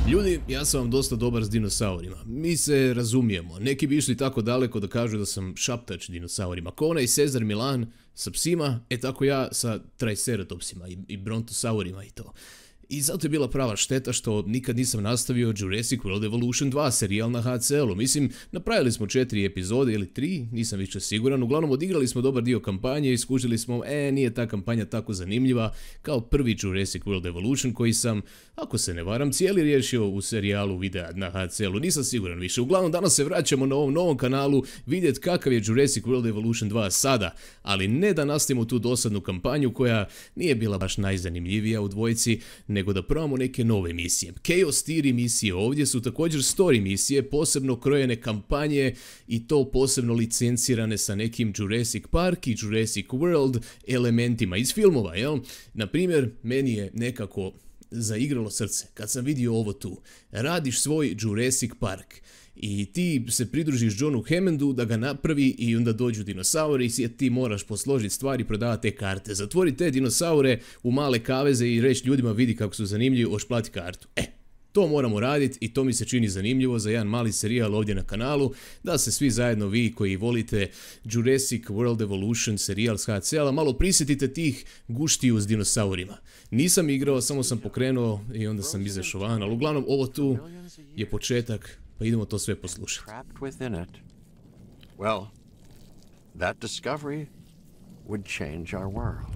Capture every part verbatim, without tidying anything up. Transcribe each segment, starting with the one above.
Ljudi, ja sam vam dosta dobar s dinosaurima. Mi se razumijemo. Neki bi išli tako daleko da kažu da sam šaptač dinosaurima. Ko onaj Cezar Milan sa psima, e tako ja sa triceratopsima i, i brontosaurima i to. I zato je bila prava šteta što nikad nisam nastavio Jurassic World Evolution dva serijal na H C L-u. Mislim, napravili smo četiri epizode ili tri, nisam više siguran. Uglavnom odigrali smo dobar dio kampanje i skužili smo, e, nije ta kampanja tako zanimljiva kao prvi Jurassic World Evolution koji sam, ako se ne varam, cijeli riješio u serijalu videa na H C L-u. Nisam siguran više. Uglavnom danas se vraćamo na ovom novom kanalu vidjeti kakav je Jurassic World Evolution dva sada, ali ne da nastavimo tu dosadnu kampanju koja nije bila baš najzanimljivija u dvojici, nego da probamo neke nove misije. Chaos Theory misije ovdje su također story misije, posebno krojene kampanje i to posebno licencirane sa nekim Jurassic Park i Jurassic World elementima iz filmova, jel? Naprimjer, meni je nekako zaigralo srce kad sam vidio ovo tu. Radiš svoj Jurassic Park i ti se pridružiš Johnu Hammondu da ga napravi i onda dođu dinosauri i ti moraš posložiti stvari i prodavati te karte. Zatvori te dinosaure u male kaveze i reći ljudima vidi kako su zanimljivi, hoš plati kartu. E, to moramo raditi i to mi se čini zanimljivo za jedan mali serijal ovdje na kanalu, da se svi zajedno vi koji volite Jurassic World Evolution serijal s H C L-a malo prisjetite tih guštiju s dinosaurima. Nisam igrao, samo sam pokrenuo i onda sam izašao van, ali uglavnom ovo tu je početak. Pa idemo to sve poslušati. Well, that discovery would change our world.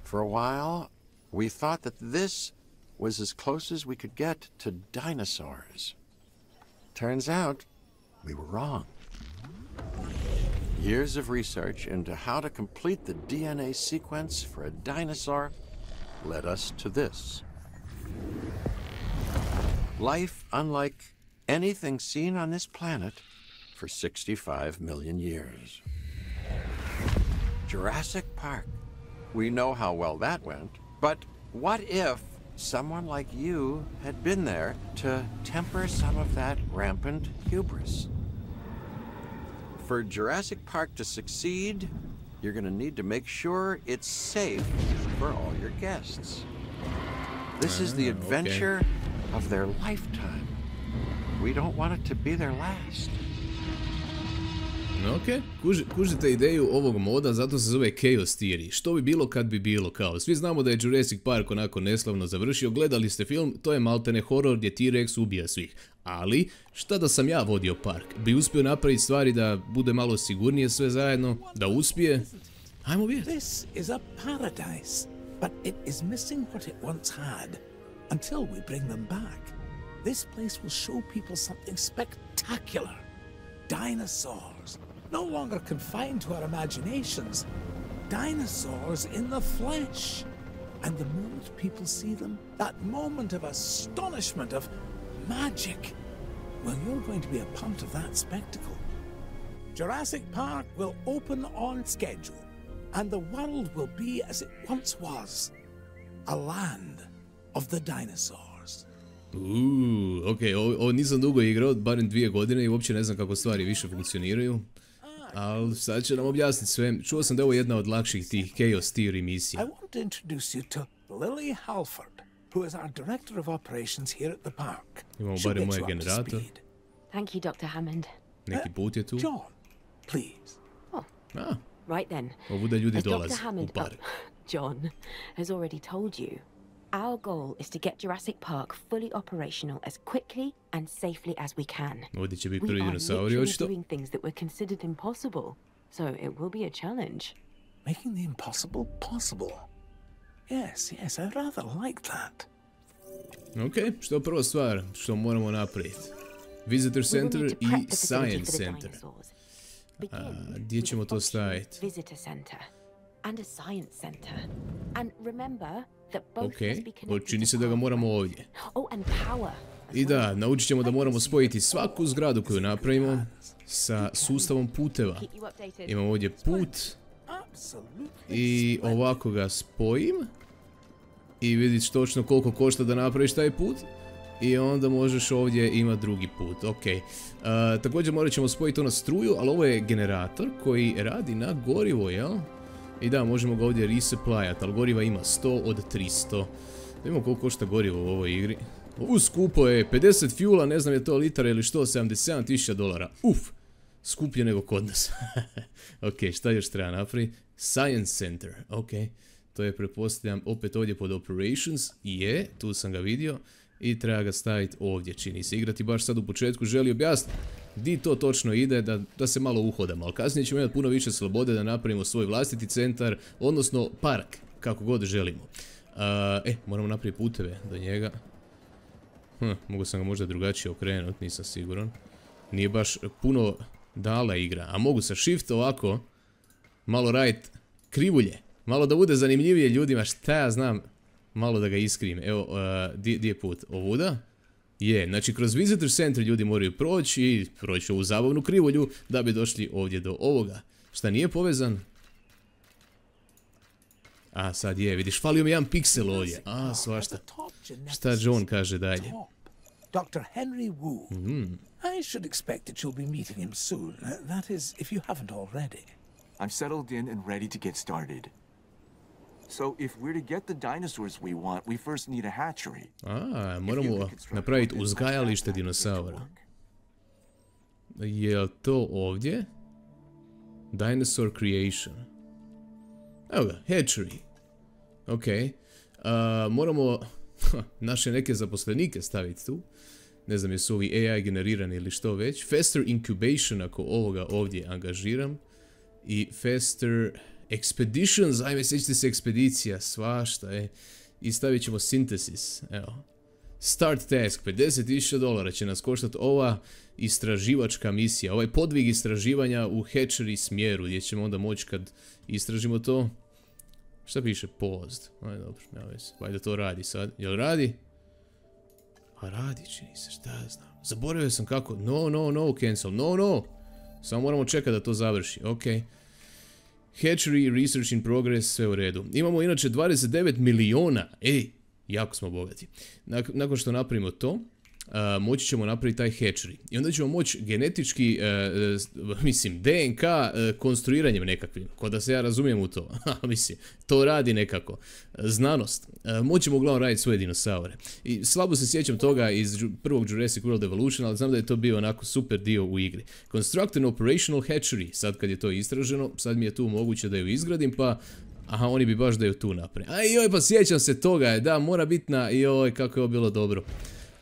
For a while, we thought that this was as close as we could get to dinosaurs. Turns out, we were wrong. Years of research into how to complete the D N A sequence for a dinosaur led us to this. Life unlike anything seen on this planet for sixty-five million years. Jurassic Park. We know how well that went, but what if someone like you had been there to temper some of that rampant hubris? For Jurassic Park to succeed, you're going to need to make sure it's safe for all your guests. This is the adventure okay. of their lifetime. We don't want it to be their last. Ok, Kuži, kužite ideju ovog moda, zato se zove Chaos Theory. Što bi bilo kad bi bilo kao? Svi znamo da je Jurassic Park onako neslavno završio, gledali ste film, to je maltene horor gdje T-Rex ubija svih. Ali, šta da sam ja vodio park? Bi uspio napraviti stvari da bude malo sigurnije sve zajedno? Da uspije? Ajmo vidjeti. This is a paradise, but it is missing what it once had. Until we bring them back, this place will show people something spectacular. Dinosaurs, no longer confined to our imaginations. Dinosaurs in the flesh. And the moment people see them, that moment of astonishment, of magic, well, you're going to be a part of that spectacle. Jurassic Park will open on schedule, and the world will be as it once was, a land of the dinosaurs. Uuu, ok, ovo, ovo nisam dugo igrao, barem dvije godine i uopće ne znam kako stvari više funkcioniraju. Ali sad će nam objasniti sve. Čuo sam da je ovo jedna od lakših tih Chaos Theory misija. I want to introduce you to Lily Halford, who is our director of operations here at the park. Imamo barem moj generator. Thank you, Doctor Hammond. Neki put je tu. John, please. Oh, ah. right then. Ovuda ljudi As dolaze Doctor Hammond, u park. oh, John has already told you, our goal is to get Jurassic Park fully operational as quickly and safely as we can. Ovdje će biti We prvi are dinosauri, literally očito. doing things that were considered impossible, so it will be a challenge. Making the impossible possible. Yes, yes, I rather like that. Ok, što je prva stvar što moramo napraviti? Visitor Center i Science Center. A, gdje ćemo to staviti? Visitor Center and a Science Center. And remember that both Ok, must be connected čini se to da ga power. moramo ovdje. Oh, and power. I da, naučit ćemo da moramo spojiti svaku zgradu koju napravimo sa sustavom puteva. Imamo ovdje put i ovako ga spojim i vidiš točno koliko košta da napraviš taj put i onda možeš ovdje imati drugi put. Ok, uh, također morat ćemo spojiti to na struju, ali ovo je generator koji radi na gorivo, jel? I da, možemo ga ovdje resupplyat, ali goriva ima sto od tristo. Da vidimo koliko košta gorivo u ovoj igri. U skupo je pedeset fuela, ne znam je to litara ili što, sedamdeset sedam tisuća dolara. Uf, skuplje nego kod nas. Ok, šta još treba napraviti? Science Center, ok. To je, pretpostavljam, opet ovdje pod Operations. Je, tu sam ga vidio. I treba ga staviti ovdje, čini se. Igrati baš sad u početku želi objasniti di to točno ide, da, da se malo uhodamo. Ali kasnije ćemo imati puno više slobode da napravimo svoj vlastiti centar, odnosno park, kako god želimo. Uh, e, moramo napraviti puteve do njega. Hm, mogu sam ga možda drugačije okrenuti, nisam siguran. Nije baš puno dala igra. A mogu sa shift ovako malo raditi krivulje. Malo da bude zanimljivije ljudima, šta ja znam. Malo da ga iskrim. Evo, uh, di, di je put? Ovuda? Je, znači kroz Visitor Center ljudi moraju proći i proći ovu zabavnu krivulju da bi došli ovdje do ovoga. Šta nije povezan? A, sad je, vidiš, falio mi jedan piksel ovdje. A, svašta. Šta John kaže dalje? Doctor Henry Wu. Mm. I should expect that you'll be meeting him soon. Uh, that is, if you haven't already. I'm settled in and ready to get started. So, if we're to get the dinosaurs we want, we first need a hatchery. A, moramo napraviti uzgajalište dinosaura. Je li to ovdje? Dinosaur Creation. Evo ga, hatchery. Ok. Uh, moramo naše neke zaposlenike staviti tu. Ne znam jesu ovi A I generirani ili što već. Faster incubation ako ovoga ovdje angažiram. I faster expeditions. Ajme, sjećate se ekspedicija. Svašta, e. I stavit ćemo synthesis. Evo. Start task. pedeset tisuća dolara će nas koštati ova istraživačka misija. Ovaj podvig istraživanja u hatchery smjeru. Gdje ćemo onda moći kad istražimo to. Šta piše? Paused. Aj, dobro, nema veze. Valjda to radi sad. Jel radi? Pa radi, čini se, šta ja znam. Zaboravio sam kako. No, no, no, cancel. No, no. Samo moramo čekati da to završi. Ok. Hatchery, research in progress, sve u redu. Imamo inače dvadeset devet miliona. Ej, jako smo bogati. Nakon što napravimo to, Uh, moći ćemo napraviti taj hatchery. I onda ćemo moći genetički, uh, uh, mislim, D N K uh, konstruiranjem nekakvim. Ko da se ja razumijem u to. Mislim, to radi nekako. Uh, znanost. Uh, moćemo uglavnom raditi svoje dinosaure. I slabo se sjećam toga iz prvog Jurassic World Evolution, ali znam da je to bio onako super dio u igri. Construct an operational hatchery. Sad kad je to istraženo, sad mi je tu moguće da ju izgradim, pa aha, oni bi baš da ju tu napravim. Aj, joj, pa sjećam se toga. Da, mora biti na, joj, kako je ovo bilo dobro.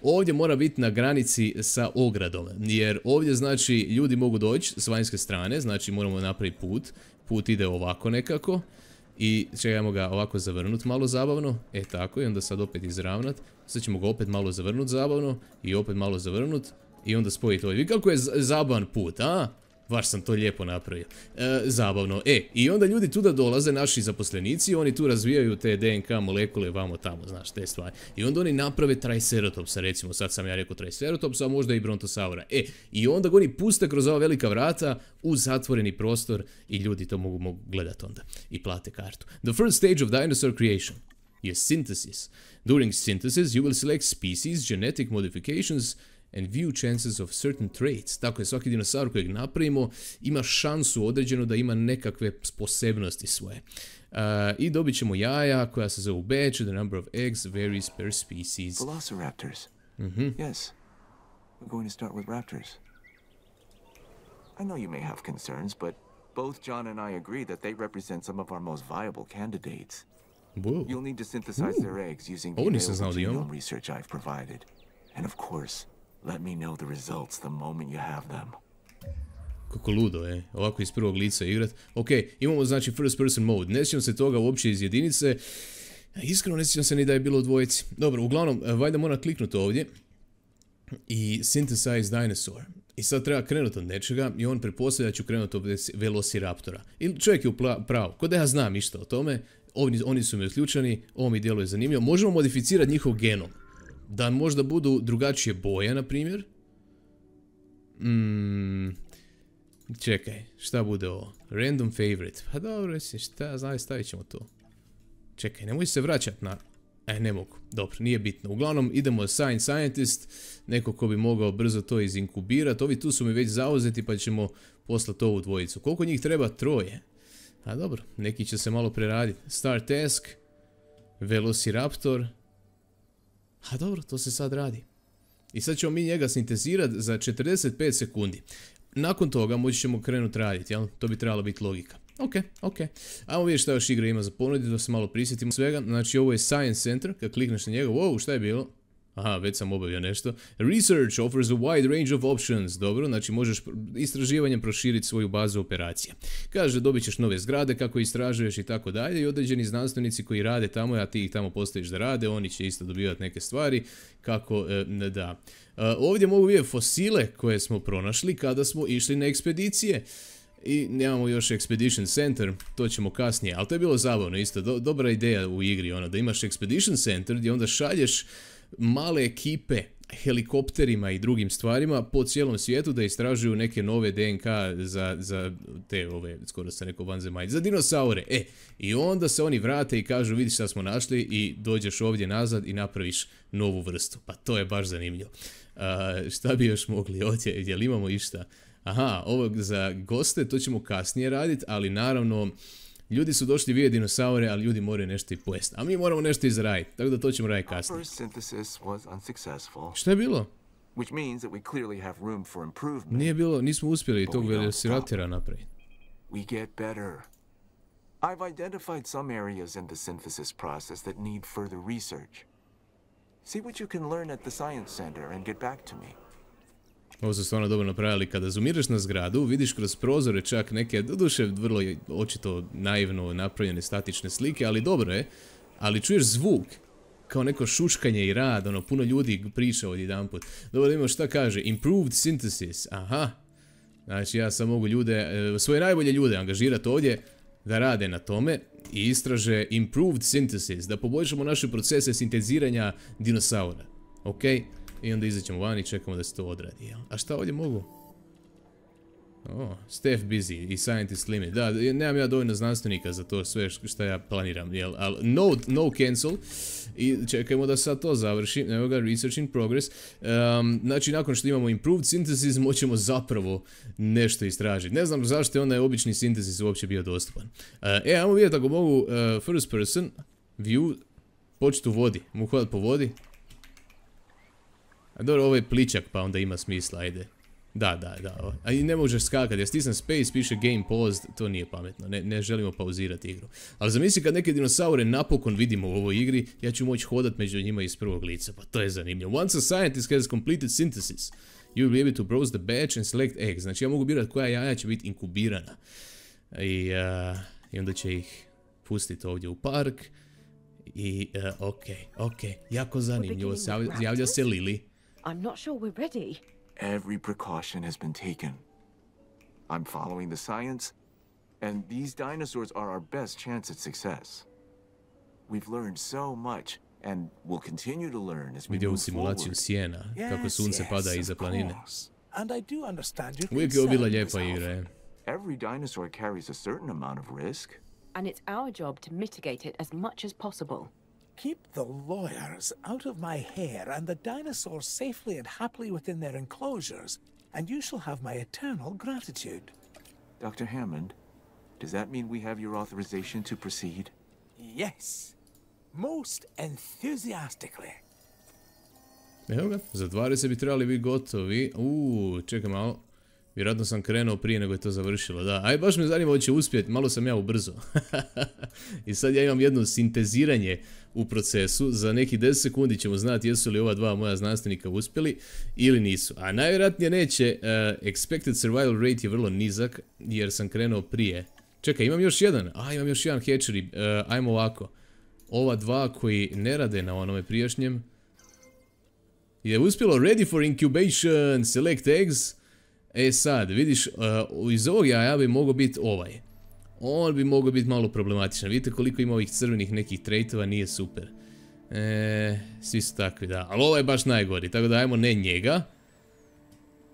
Ovdje mora biti na granici sa ogradom, jer ovdje znači ljudi mogu doći s vanjske strane, znači moramo napraviti put. Put ide ovako nekako i ćemo ga ovako zavrnuti malo zabavno, e tako, i onda sad opet izravnat. Sad ćemo ga opet malo zavrnuti zabavno i opet malo zavrnuti i onda spojiti ovdje. Vidi kako je zabavan put, a? Baš sam to lijepo napravio. E, zabavno. E, i onda ljudi tu da dolaze, naši zaposlenici, oni tu razvijaju te D N K molekule vamo tamo, znaš, te stvari. I onda oni naprave Triceratopsa, recimo, sad sam ja rekao Triceratopsa, a možda i Brontosaura. E, i onda ga oni puste kroz ova velika vrata u zatvoreni prostor i ljudi to mogu, mogu gledati onda i plate kartu. The first stage of dinosaur creation je synthesis. During synthesis you will select species, genetic modifications, and view chances of certain traits. Tako je, svaki dinosaur kojeg napravimo ima šansu određenu da ima nekakve posebnosti svoje. Uh, I dobit ćemo jaja koja se zovu batch, the number of eggs varies per species. Velociraptors. Mm-hmm. Yes. We're going to start with raptors. I know you may have concerns, but both John and I agree that they represent some of our most viable candidates. Whoa. You'll need to synthesize Ooh. their eggs using the Oh, nisam available znao da imamo. genome research I've provided. And of course, let me know the results the moment you have them. Kako ludo, e. Ovako iz prvog lica igrat. Ok, imamo znači first person mode. Ne sjećam se toga uopće iz jedinice. Iskreno ne sjećam se ni da je bilo u dvojici. Dobro, uglavnom, valjda moram kliknuti ovdje. I synthesize dinosaur. I sad treba krenuti od nečega i on pretpostavlja da ću krenuti od Velociraptora. I čovjek je u pravu. Ko da ja znam išta o tome. Oni, oni su mi uključeni. Ovo mi djeluje zanimljivo. Možemo modificirati njihov genom. Da možda budu drugačije boje, na primjer. Mm, čekaj, šta bude ovo? Random favorite. Pa dobro, šta, znaj, stavit ćemo to. Čekaj, nemoj se vraćati na... E, ne mogu. Dobro, nije bitno. Uglavnom, idemo Science Scientist. Neko ko bi mogao brzo to izinkubirati. Ovi tu su mi već zauzeti, pa ćemo poslati ovu dvojicu. Koliko njih treba? Troje. A dobro, neki će se malo preraditi. Start task. Velociraptor. A dobro, to se sad radi. I sad ćemo mi njega sintezirati za četrdeset pet sekundi. Nakon toga moći ćemo krenuti raditi, jel? To bi trebala biti logika. Ok, ok. Ajmo vidjeti šta još igra ima za ponuditi, da se malo prisjetimo svega. Znači ovo je Science Center, kad klikneš na njega, wow, šta je bilo? Aha, već sam obavio nešto. Research offers a wide range of options. Dobro, znači možeš istraživanjem proširiti svoju bazu operacija. Kaže, dobit ćeš nove zgrade kako istražuješ i tako dalje i određeni znanstvenici koji rade tamo, a ti ih tamo postaviš da rade, oni će isto dobivati neke stvari kako e, da. E, ovdje mogu vidjeti fosile koje smo pronašli kada smo išli na ekspedicije. I nemamo još Expedition Center, to ćemo kasnije, ali to je bilo zabavno isto, do, dobra ideja u igri, ono, da imaš Expedition Center gdje onda šalješ male ekipe helikopterima i drugim stvarima po cijelom svijetu da istražuju neke nove D N K za, za te ove, skoro sam rekao vanzemaljce, za dinosaure. E, i onda se oni vrate i kažu vidi šta smo našli i dođeš ovdje nazad i napraviš novu vrstu. Pa to je baš zanimljivo. Uh, šta bi još mogli ovdje, jel imamo išta? Aha, ovo za goste, to ćemo kasnije raditi, ali naravno ljudi su došli vidjeti dinosaure, ali ljudi moraju nešto i pojesti. A mi moramo nešto izraditi, tako da to ćemo raditi kasnije. Šta je bilo? Nije bilo, nismo uspjeli tog velociraptora napraviti. We get better. I've identified some areas in the synthesis process that need further research. See what you can learn at the Science Center and get back to me. Ovo su stvarno dobro napravili. Kada zoomiraš na zgradu, vidiš kroz prozore čak neke, doduše vrlo očito naivno napravljene statične slike, ali dobro je. Ali čuješ zvuk, kao neko šuškanje i rad, ono, puno ljudi priča odjedanput. Dobro, da imamo šta kaže, improved synthesis, aha. Znači ja sam mogu ljude, svoje najbolje ljude angažirati ovdje da rade na tome i istraže improved synthesis, da poboljšamo naše procese sinteziranja dinosaura. Ok? I onda izaćemo van i čekamo da se to odradi, jel? A šta ovdje mogu? O, staff busy i scientist limit. Da, nemam ja dovoljno znanstvenika za to sve što ja planiram, jel? Ali no, no cancel. I čekajmo da sad to završi. Evo ga, research in progress. Um, znači, nakon što imamo improved synthesis, moćemo zapravo nešto istražiti. Ne znam zašto je onda je obični synthesis uopće bio dostupan. Uh, e, ajmo vidjeti ako mogu uh, first person view početi u vodi. Mogu hodati po vodi. A dobro, ovo je pličak pa onda ima smisla, ajde. Da, da, da. A i ne možeš skakati, ja stisnem space, piše game paused, to nije pametno, ne, ne želimo pauzirati igru. Ali zamisli kad neke dinosaure napokon vidimo u ovoj igri, ja ću moći hodat među njima iz prvog lica, pa to je zanimljivo. Once a scientist has completed synthesis, you will be able to browse the batch and select eggs. Znači ja mogu birati koja jaja će biti inkubirana. I, uh, i onda će ih pustiti ovdje u park. I, uh, ok, ok, jako zanimljivo, javlja se Lily. I'm not sure we're ready. Every precaution has been taken. I'm following the science, and these dinosaurs are our best chance at success. We've learned so much, and we'll continue to learn as we Vidio u move simulaciju forward. sjena, kako Yes, sunce yes, pada of iza planine. course. And I do understand your Uvijek je ovo bila concern, lijepa Miss igra, je. Alpha. Every dinosaur carries a certain amount of risk. And it's our job to mitigate it as much as possible. Keep the lawyers out of my hair and the dinosaurs safely and happily within their enclosures, and you shall have my eternal gratitude. Doctor Hammond, does that mean we have your authorization to proceed? Yes, most enthusiastically. Evo ga, za dvadeset bi trebali biti gotovi. Uuu, čekaj malo. Vjerojatno sam krenuo prije nego je to završilo, da. Aj, baš me zanima hoće uspjeti, malo sam ja ubrzo. I sad ja imam jedno sinteziranje u procesu, za neki deset sekundi ćemo znati jesu li ova dva moja znanstvenika uspjeli ili nisu. A najvjerojatnije neće, uh, expected survival rate je vrlo nizak, jer sam krenuo prije. Čekaj, imam još jedan, a imam još jedan hatchery, uh, ajmo ovako. Ova dva koji ne rade na onome prijašnjem, je uspjelo ready for incubation, select eggs. E sad, vidiš, uh, iz ovog jaja bi mogao biti ovaj. On bi mogao biti malo problematičan. Vidite koliko ima ovih crvenih nekih traitova, nije super. E, svi su takvi, da. Ali ovo je baš najgori, tako da ajmo ne njega.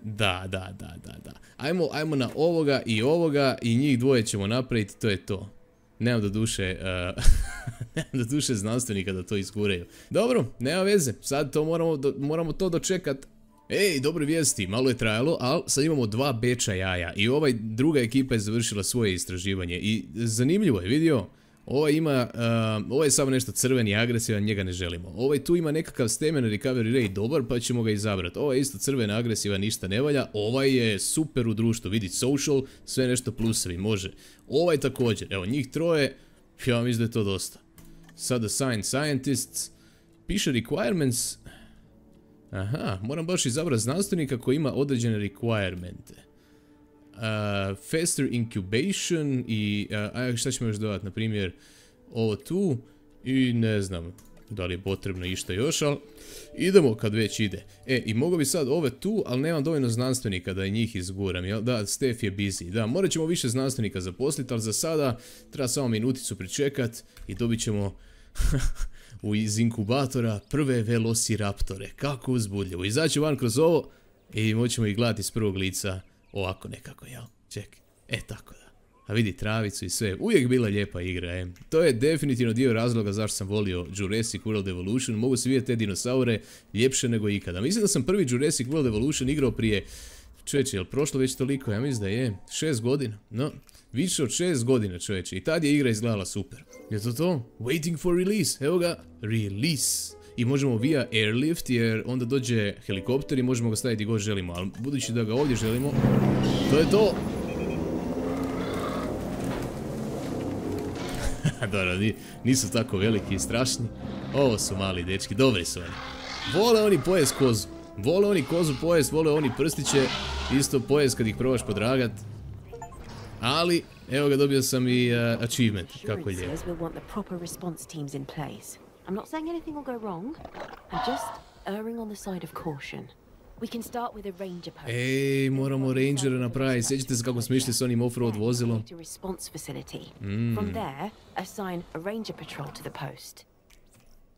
Da, da, da, da, da. Ajmo, ajmo na ovoga i ovoga i njih dvoje ćemo napraviti, to je to. Nemam do duše, uh, nemam do duše znanstvenika da to izguraju. Dobro, nema veze, sad to moramo, do, moramo to dočekat. Ej, dobre vijesti, malo je trajalo, ali sad imamo dva beča jaja i ovaj druga ekipa je završila svoje istraživanje i zanimljivo je, vidio Ovaj ima, uh, ovaj je samo nešto crveni, agresivan, njega ne želimo. Ovaj tu ima nekakav stamina recovery rate dobar, pa ćemo ga izabrati. Ovaj je isto crven, agresivan, ništa ne valja. Ovaj je super u društvu, vidi social, sve nešto plusevi, može. Ovaj također, evo njih troje, ja mislim da je to dosta. Sad assigned scientists, piše requirements. Aha, moram baš izabrati znanstvenika koji ima određene requiremente. Uh, faster incubation i uh, a šta ćemo još dodati, na primjer ovo tu i ne znam da li je potrebno išta još, ali idemo kad već ide. E, i mogu bi sad ove tu, ali nemam dovoljno znanstvenika da i njih izguram, jel? Da, Stef je busy, da, morat ćemo više znanstvenika zaposliti, ali za sada treba samo minuticu pričekat i dobit ćemo u iz inkubatora prve velociraptore, kako uzbudljivo. Izaći van kroz ovo i moćemo ih gledati iz prvog lica. Ovako nekako, jel? Ček. E, tako da. A vidi travicu i sve. Uvijek bila lijepa igra, e. To je definitivno dio razloga zašto sam volio Jurassic World Evolution. Mogu se vidjeti te dinosaure ljepše nego ikada. Mislim da sam prvi Jurassic World Evolution igrao prije... Čovječe, jel prošlo već toliko? Ja mislim da je. Šest godina. No, više od šest godina, čovječe. I tad je igra izgledala super. Je to to? Waiting for release. Evo ga. Release. I možemo via airlift jer onda dođe helikopter i možemo ga staviti gdje god želimo. Ali budući da ga ovdje želimo, to je to. Dobro, nisu tako veliki i strašni. Ovo su mali dečki, dobri su oni. Vole oni pojest kozu. Vole oni kozu pojest, vole oni prstiće. Isto pojest kad ih probaš podragat. Ali, evo ga, dobio sam i uh, achievement. Kako je lijepo. I'm not saying anything will go wrong. I'm just erring on the side of caution. We can start with a ranger post. Ej, moramo rangera napraviti. Sjećate se kako smo išli s onim off-road vozilom? Mm. From there, assign a ranger patrol to the post.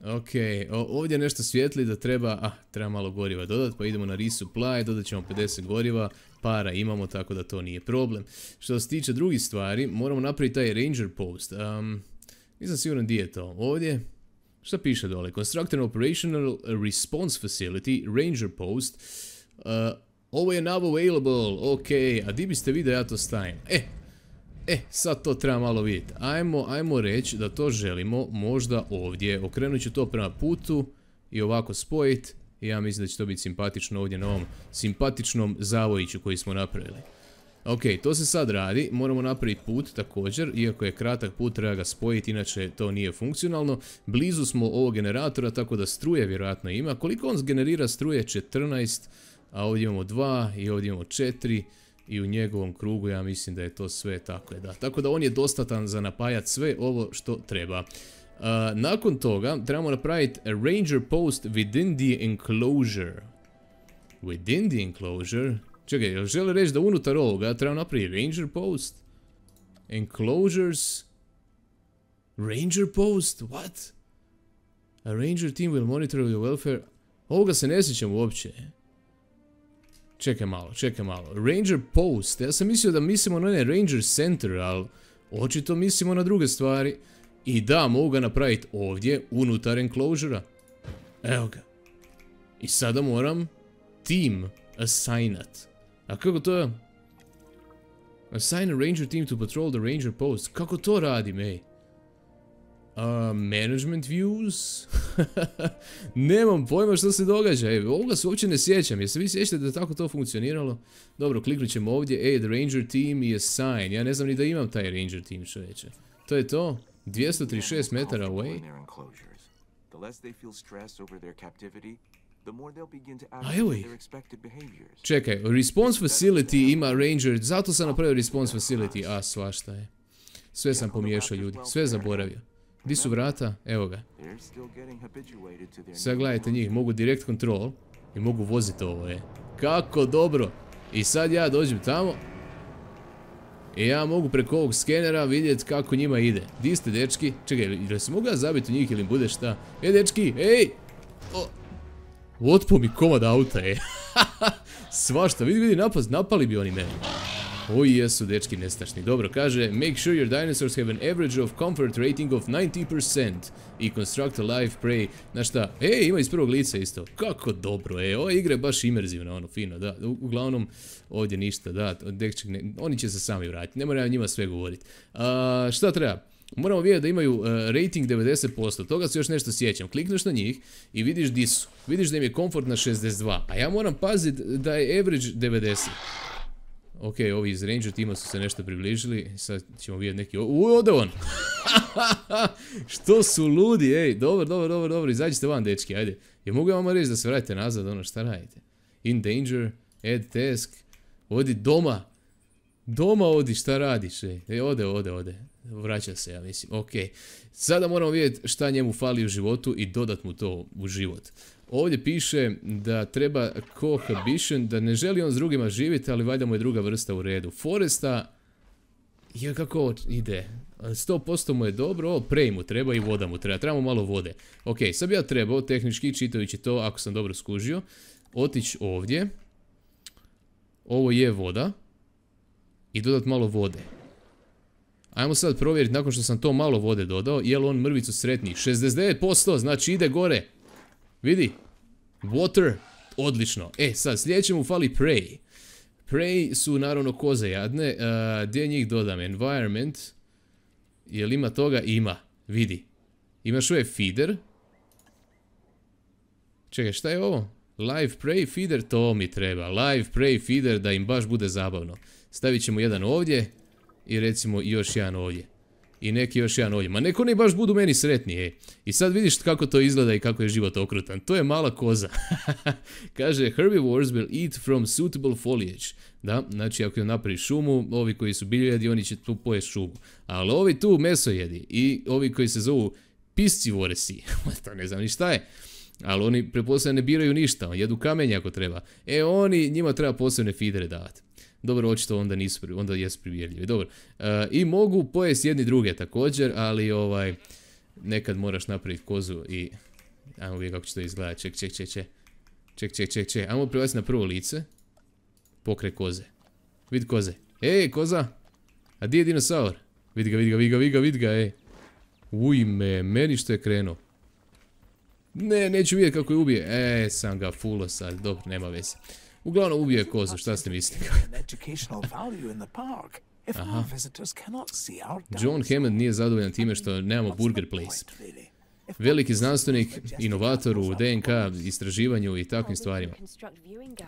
Ok, ovdje je nešto svijetli da treba, ah, treba malo goriva dodati, pa idemo na resupply, dodat ćemo pedeset goriva, para imamo, tako da to nije problem. Što se tiče drugih stvari, moramo napraviti taj ranger post. Um, nisam siguran gdje je to. Ovdje? Šta piše dole? Construct an operational response facility, ranger post. Uh, ovo je now available, ok, a di biste vi da ja to stavim? E, e, sad to treba malo vidjeti. Ajmo, ajmo reći da to želimo možda ovdje. Okrenut ću to prema putu i ovako spojiti. I ja mislim da će to biti simpatično ovdje na ovom simpatičnom zavojiću koji smo napravili. Ok, to se sad radi, moramo napraviti put također, iako je kratak put treba ga spojiti, inače to nije funkcionalno. Blizu smo ovog generatora, tako da struje vjerojatno ima. Koliko on generira struje? četrnaest, a ovdje imamo dva i ovdje imamo četiri i u njegovom krugu ja mislim da je to sve tako je da. Tako da on je dostatan za napajati sve ovo što treba. Uh, nakon toga trebamo napraviti a ranger post within the enclosure. Within the enclosure? Čekaj, jel žele reći da unutar ovoga treba napraviti ranger post? Enclosures? Ranger post? What? A ranger team will monitor your welfare. Ovoga se ne sjećam uopće. Čekaj malo, čekaj malo. Ranger post. Ja sam mislio da mislimo na onaj ranger center, ali očito mislimo na druge stvari. I da, mogu ga napraviti ovdje, unutar enclosura. Evo ga. I sada moram team assignat. A kako to je? Assign a ranger team to patrol the ranger post. Kako to radim, ej? Uh, management views? Nemam pojma što se događa. Ej, ovoga se uopće ne sjećam. Jeste vi sjećate da je tako to funkcioniralo? Dobro, kliknut ćemo ovdje. Ej, the ranger team i assign. Ja ne znam ni da imam taj ranger team, čovječe. To je to? dvjesto trideset šest metara away? A evo ih. Čekaj, response facility ima ranger, zato sam napravio response facility. A, svašta je. Sve sam pomiješao, ljudi, sve zaboravio. Di su vrata? Evo ga. Sad gledajte njih, mogu direct control i mogu voziti ovo, je. Kako dobro. I sad ja dođem tamo i ja mogu preko ovog skenera vidjeti kako njima ide. Di ste, dečki? Čekaj, ili se mogu ja zabiti u njih ili im bude šta? E, dečki, ej! Otpo mi komad auta, ej. Svašta, vidi, vidi, napast, napali bi oni meni. Oji jesu, dečki, nestašni. Dobro, kaže, make sure your dinosaurs have an average of comfort rating of ninety percent i construct a live prey. Znaš šta? Ej, ima iz prvog lica isto. Kako dobro, ej, ova igra je baš imerzivna, ono, fino, da. Uglavnom, ovdje ništa, da, dečki, ne, oni će se sami vratiti, ne moram njima sve govoriti. Uh, šta treba? Moramo vidjeti da imaju uh, rating devedeset posto, toga se još nešto sjećam. Klikneš na njih i vidiš di su. Vidiš da im je komfort na šezdeset dva, a ja moram paziti da je average devedeset. Ok, ovi iz Ranger tima su se nešto približili, sad ćemo vidjeti neki... Uj, ode on! Što su ludi, ej, dobro, dobro, dobro, dobro, izađite van, dečki, ajde. Je mogu vam reći da se vratite nazad, ono, šta radite? In danger, add task, odi doma. Doma odi, šta radiš, ej? E, ode, ode, ode. Vraća se, ja mislim, ok. Sada moramo vidjeti šta njemu fali u životu i dodat mu to u život. Ovdje piše da treba cohabitation, da ne želi on s drugima živjeti, ali valjda mu je druga vrsta u redu. Foresta, je kako ovo ide, sto posto mu je dobro, ovo prej mu treba i voda mu treba, trebamo malo vode. Ok, sad bi ja trebao, tehnički čitajući to, ako sam dobro skužio, otići ovdje, ovo je voda, i dodat malo vode. Ajmo sad provjeriti, nakon što sam to malo vode dodao, je li on mrvicu sretniji. šezdeset devet posto, znači ide gore. Vidi. Water. Odlično. E, sad, sljedeće mu fali prey. Prey su naravno koze jadne. Uh, gdje njih dodam? Environment. Jel ima toga? Ima. Vidi. Imaš ovaj feeder. Čekaj, šta je ovo? Live prey feeder? To mi treba. Live prey feeder da im baš bude zabavno. Stavit ćemo jedan ovdje. I recimo još jedan ovdje. I neki još jedan ovdje. Ma neko ne baš budu meni sretni, ej. I sad vidiš kako to izgleda i kako je život okrutan. To je mala koza. Kaže, herbivores will eat from suitable foliage. Da, znači ako napravi šumu, ovi koji su biljojedi, oni će tu pojesti šumu. Ali ovi tu mesojedi i ovi koji se zovu piscivoresi, to ne znam ni šta je. Ali oni pretpostavljam ne biraju ništa, jedu kamenje ako treba. E oni, njima treba posebne feedere davati. Dobro, očito onda nisu, onda jesu privjerljivi. Dobro, uh, i mogu pojesti jedni druge također, ali ovaj, nekad moraš napraviti kozu i... Ajmo vidjeti kako će to izgledati, ček, ček, ček, ček, ček, ček, ček, ček, ajmo privaciti na prvo lice, pokraj koze, vidi koze, ej, koza, a di je dinosaur, vidi ga, vidi ga, vidi ga, vidi ga, vidi ga, ej, ujme, meni što je krenuo, ne, neću vidjeti kako je ubije, e, sam ga fullo sad, dobro, nema veze. Uglavnom ubije kozu, šta ste mislili? Aha. John Hammond nije zadovoljan time što nemamo Burger Place. Veliki znanstvenik, inovator u D N K istraživanju i takvim stvarima.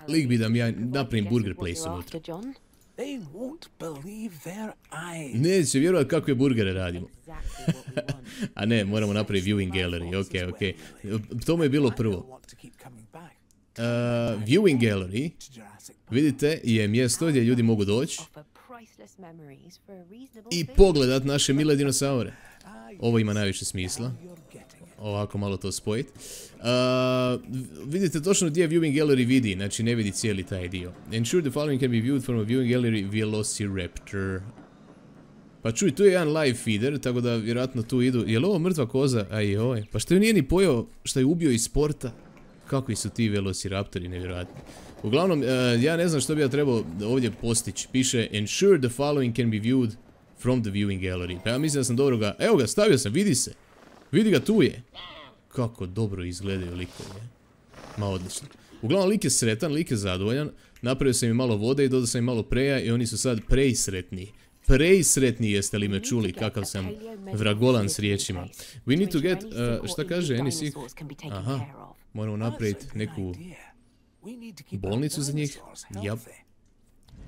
Lik bi da mi ja napravim Burger Place unutra. Neće vjerovati kakve burgere radimo. A ne, moramo napraviti viewing gallery, ok, ok. To mu je bilo prvo. Uh, viewing gallery, vidite, je mjesto gdje ljudi mogu doći i pogledat naše mile dinosaure. Ovo ima najviše smisla. Ovako malo to spojiti. Uh, vidite točno gdje viewing gallery vidi, znači ne vidi cijeli taj dio. Ensure the following can be viewed from a viewing gallery Velociraptor. Pa čuj, tu je jedan live feeder, tako da vjerojatno tu idu. Je li ovo mrtva koza? Aj joj, pa što je nije ni pojeo što je ubio iz sporta? Kakvi su ti velociraptori, nevjerojatni. Uglavnom, uh, ja ne znam što bi ja trebao ovdje postići. Piše, ensure the following can be viewed from the viewing gallery. Pa ja mislim da sam dobro ga... Evo ga, stavio sam, vidi se. Vidi ga, tu je. Kako dobro izgledaju likovi. Ma odlično. Uglavnom, lik je sretan, lik je zadovoljan. Napravio sam im malo vode i dodao sam im malo preja i oni su sad prejsretni. Prejsretni, jeste li me čuli kakav sam vragolan s riječima. We need to get... Uh, šta kaže N S I? Aha. Moramo napraviti neku bolnicu za njih. Yep.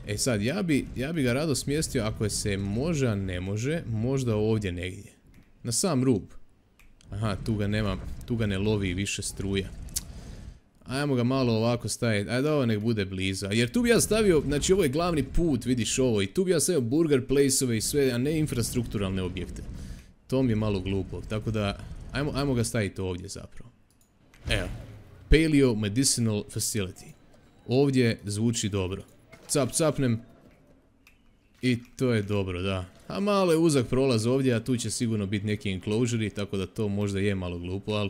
E sad, ja bi, ja bi ga rado smjestio ako se može, a ne može, možda ovdje negdje. Na sam rub. Aha, tu ga nema, tu ga ne lovi više struja. Ajmo ga malo ovako staviti, ajde ovo nek bude blizu. Jer tu bi ja stavio, znači ovo je glavni put, vidiš ovo, i tu bi ja stavio burger place-ove i sve, a ne infrastrukturalne objekte. To mi je malo glupo, tako da, ajmo, ajmo ga staviti ovdje zapravo. Evo, Paleo Medicinal Facility. Ovdje zvuči dobro. Cap capnem. I to je dobro, da. A malo je uzak prolaz ovdje, a tu će sigurno biti neki enclosure, tako da to možda je malo glupo, ali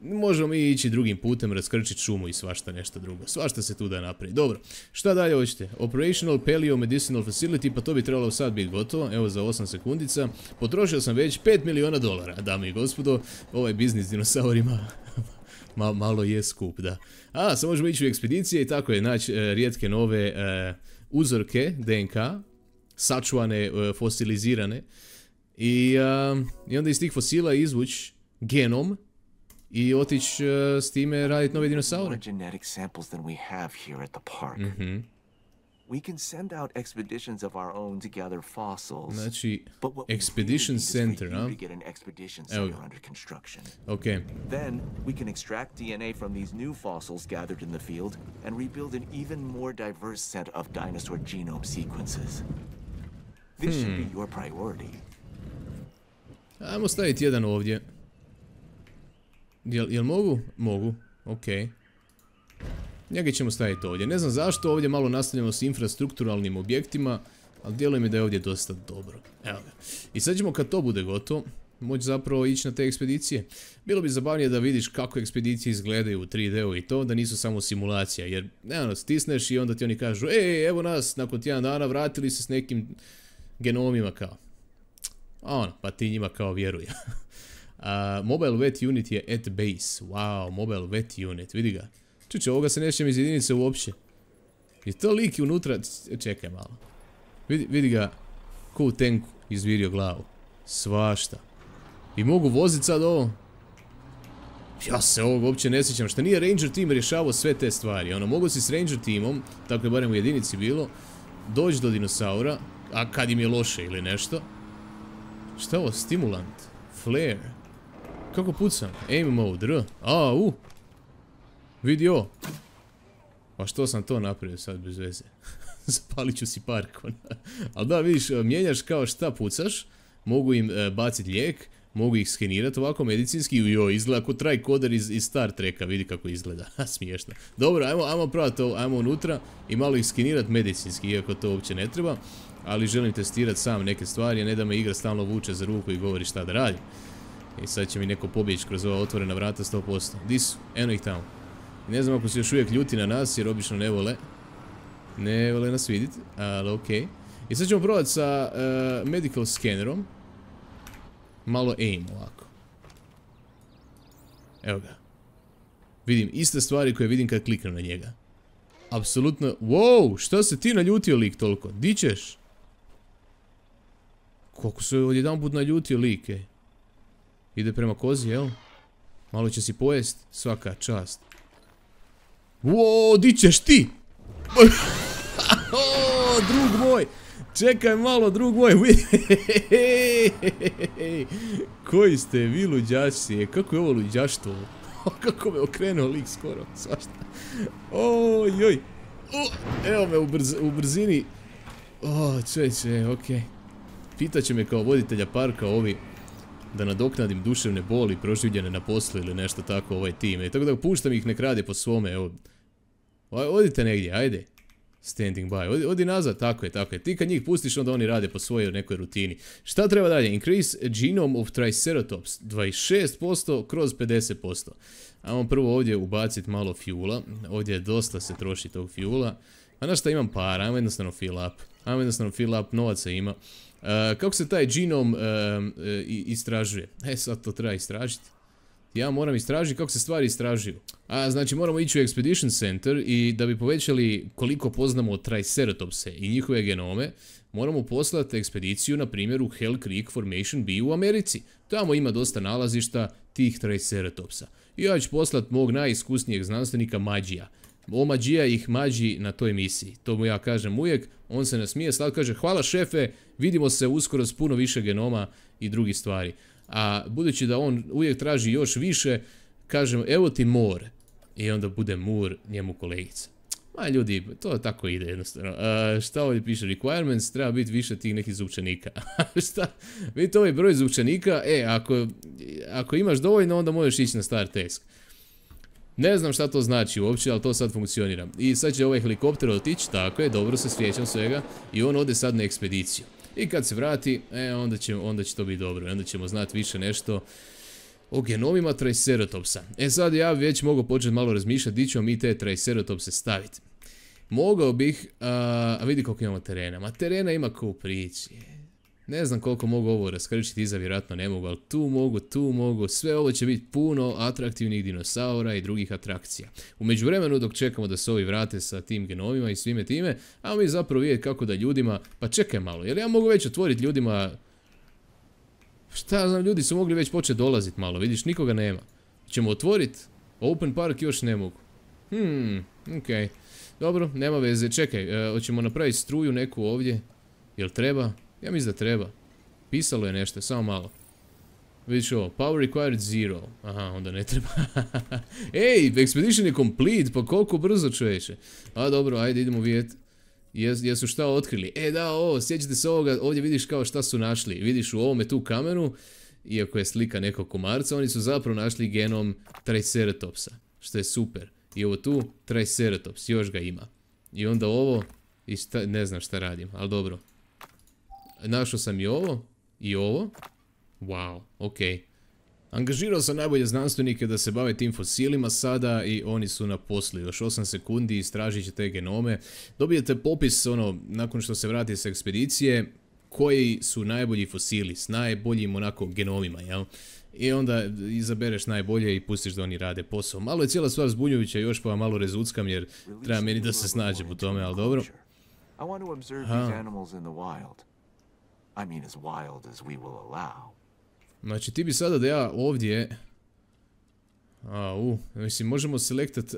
možemo mi ići drugim putem, raskrčiti šumu i svašta nešto drugo. Svašta se tu da napravi. Dobro, šta dalje hoćete? Operational Paleo Medicinal Facility, pa to bi trebalo sad biti gotovo, evo za osam sekundica. Potrošio sam već pet miliona dolara, dame i gospodo, ovaj biznis s dinosaurima Ma, malo je skup, da. A, sad možemo ići u ekspedicije i tako je, naći e, rijetke nove e, uzorke D N K, sačuvane, e, fosilizirane, I, uh, i onda iz tih fosila izvući genom i otići uh, s time raditi nove dinosaure. More genetic samples than we have here at the park. Mhm. We can send out expeditions of our own to gather fossils. Znači, But what we Expedition really need is for Center, you huh? to get an expedition Evo center ga. under construction. ok. Then we can extract D N A from these new fossils gathered in the field and rebuild an even more diverse set of dinosaur genome sequences. This should be your priority. Ajmo staviti jedan ovdje. Jel, jel mogu? Mogu, ok. Njega ćemo staviti ovdje. Ne znam zašto, ovdje malo nastavljamo s infrastrukturalnim objektima, ali djeluje mi da je ovdje dosta dobro. Evo ga. I sad ćemo kad to bude gotovo, moći zapravo ići na te ekspedicije. Bilo bi zabavnije da vidiš kako ekspedicije izgledaju u tri D-u i to, da nisu samo simulacija, jer ne, stisneš i onda ti oni kažu, ej, evo nas, nakon tjedan dana vratili se s nekim genomima kao. A ono, pa ti njima kao vjeruj. uh, mobile vet unit je at base. Wow, mobile vet unit, vidi ga. Čuče, ovoga se nećem iz jedinice uopće. Je to lik unutra? Čekaj malo. Vidi, vidi ga ko u tenku izvirio glavu. Svašta. I mogu voziti sad ovo? Ja se ovog uopće ne sjećam. Šta nije Ranger team rješavao sve te stvari? Ono, mogu si s Ranger teamom, tako je barem u jedinici bilo, doći do dinosaura, a kad im je loše ili nešto. Šta je ovo? Stimulant. Flare. Kako pucam? Aim mode, R. A, u. Vidi ovo. Pa što sam to napravio sad bez veze? Zapalit ću si parkon. Ali da, vidiš, mijenjaš kao šta pucaš. Mogu im e, baciti lijek. Mogu ih skenirati ovako medicinski. Jo, izgleda kao tricoder iz, iz Star Treka. Vidi kako izgleda. Smiješno. Dobro, ajmo, ajmo praviti ovo. Ajmo unutra i malo ih skenirati medicinski. Iako to uopće ne treba. Ali želim testirati sam neke stvari. A ne da me igra stalno vuče za ruku i govori šta da radim. I sad će mi neko pobjeći kroz ova otvorena vrata sto posto. Di su? Eno ih tamo. Ne znam ako se još uvijek ljuti na nas, jer obično ne vole. Ne vole nas vidjeti, ali okej. Okay. I sad ćemo probati sa uh, medical scannerom. Malo aim ovako. Evo ga. Vidim iste stvari koje vidim kad kliknem na njega. Apsolutno. Wow, šta se ti naljutio lik toliko? Di ćeš? Koliko se odjedan put naljutio lik, ej. Ide prema kozi, jel? Malo će si pojest, svaka čast. Wow, di ćeš ti? O, drug moj. Čekaj malo, drug moj. Koji ste vi luđaci? Kako je ovo luđaštvo? Kako me okrenuo lik skoro. Svašta. Oj, joj. Evo me u, brz, u brzini. O, čeće, okej. Pitaće me kao voditelja parka ovi da nadoknadim duševne boli proživljene na poslu ili nešto tako ovaj tim. E, tako da puštam ih nek rade po svome, evo. Odite negdje, ajde. Standing by. Odi, odi nazad, tako je, tako je. Ti kad njih pustiš, onda oni rade po svojoj nekoj rutini. Šta treba dalje? Increase genome of Triceratops. dvadeset šest posto kroz pedeset posto. Ajmo prvo ovdje ubaciti malo fuela. Ovdje dosta se troši tog fuela. A na šta imam para? Ajmo jednostavno fill up. Ajmo jednostavno fill up, novaca ima. Uh, kako se taj genom uh, uh, istražuje? E, sad to treba istražiti. Ja moram istražiti kako se stvari istražuju. A, znači moramo ići u Expedition Center i da bi povećali koliko poznamo Triceratopse i njihove genome, moramo poslati ekspediciju, na primjer, u Hell Creek Formation B u Americi. Tamo ima dosta nalazišta tih Triceratopsa. I ja ću poslati mog najiskusnijeg znanstvenika Mađija. O Mađija ih mađi na toj misiji. To mu ja kažem uvijek, on se nasmije, sad kaže hvala šefe, vidimo se uskoro s puno više genoma i drugih stvari. A budući da on uvijek traži još više, kažem evo ti more. I onda bude mur njemu kolegica. Ma ljudi, to tako ide jednostavno. A, šta ovdje piše? Requirements, treba biti više tih nekih zvučanika. Šta? Vidite ovaj broj zvučanika, e, ako, ako imaš dovoljno, onda možeš ići na Star Task. Ne znam šta to znači uopće, ali to sad funkcionira. I sad će ovaj helikopter otići, tako je, dobro se sjećam svega. I on ode sad na ekspediciju. I kad se vrati, e, onda će, onda će to biti dobro. Onda ćemo znati više nešto o genomima Triceratopsa. E sad ja već mogu početi malo razmišljati di ćemo mi te Triceratopse staviti. Mogao bih, a, a vidi koliko imamo terena. Ma terena ima ko u priči. Ne znam koliko mogu ovo raskrčiti, iza vjerojatno ne mogu, ali tu mogu, tu mogu. Sve ovo će biti puno atraktivnih dinosaura i drugih atrakcija. U međuvremenu dok čekamo da se ovi vrate sa tim genomima i svime time, a mi zapravo vidjeti kako da ljudima, pa čekaj malo, jer ja mogu već otvoriti ljudima Šta znam, ljudi su mogli već početi dolaziti malo, vidiš, nikoga nema. Ćemo otvoriti? Open park još ne mogu. Hmm, okej. Dobro, nema veze, čekaj, hoćemo napraviti struju neku ovdje. Jel treba? Ja mislim da treba. Pisalo je nešto, samo malo. Vidiš ovo, power required zero. Aha, onda ne treba. Ej, expedition je complete, pa koliko brzo čovječe. A dobro, ajde idemo vidjeti. Jes, jesu šta otkrili? E da, ovo, sjećate se ovoga, ovdje vidiš kao šta su našli. Vidiš u ovome tu kamenu, iako je slika nekog komarca, oni su zapravo našli genom Triceratopsa. Što je super. I ovo tu, Triceratops, još ga ima. I onda ovo, i šta, ne znam šta radim, ali dobro. Našao sam i ovo, i ovo. Wow, okej. Angažirao sam najbolje znanstvenike da se bave tim fosilima sada i oni su na poslu. Još osam sekundi istražit će te genome. Dobijete popis, ono, nakon što se vrati sa ekspedicije, koji su najbolji fosili s najboljim onako genomima, jel? I onda izabereš najbolje i pustiš da oni rade posao. Malo je cijela stvar zbunjujuća, još pa malo rezuckam jer treba meni da se snađem u tome, ali dobro. Znači ti bi sada da ja ovdje... A, u, mislim, možemo selektat...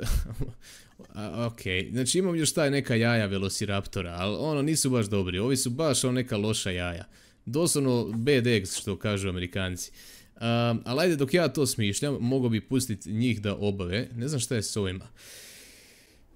Okej, znači imam još taj neka jaja Velociraptora, ali ono nisu baš dobri, ovi su baš ono neka loša jaja. Doslovno bad eggs, što kažu Amerikanci. Um, ali ajde, dok ja to smišljam, mogo bi pustiti njih da obave. Ne znam šta je s ovima.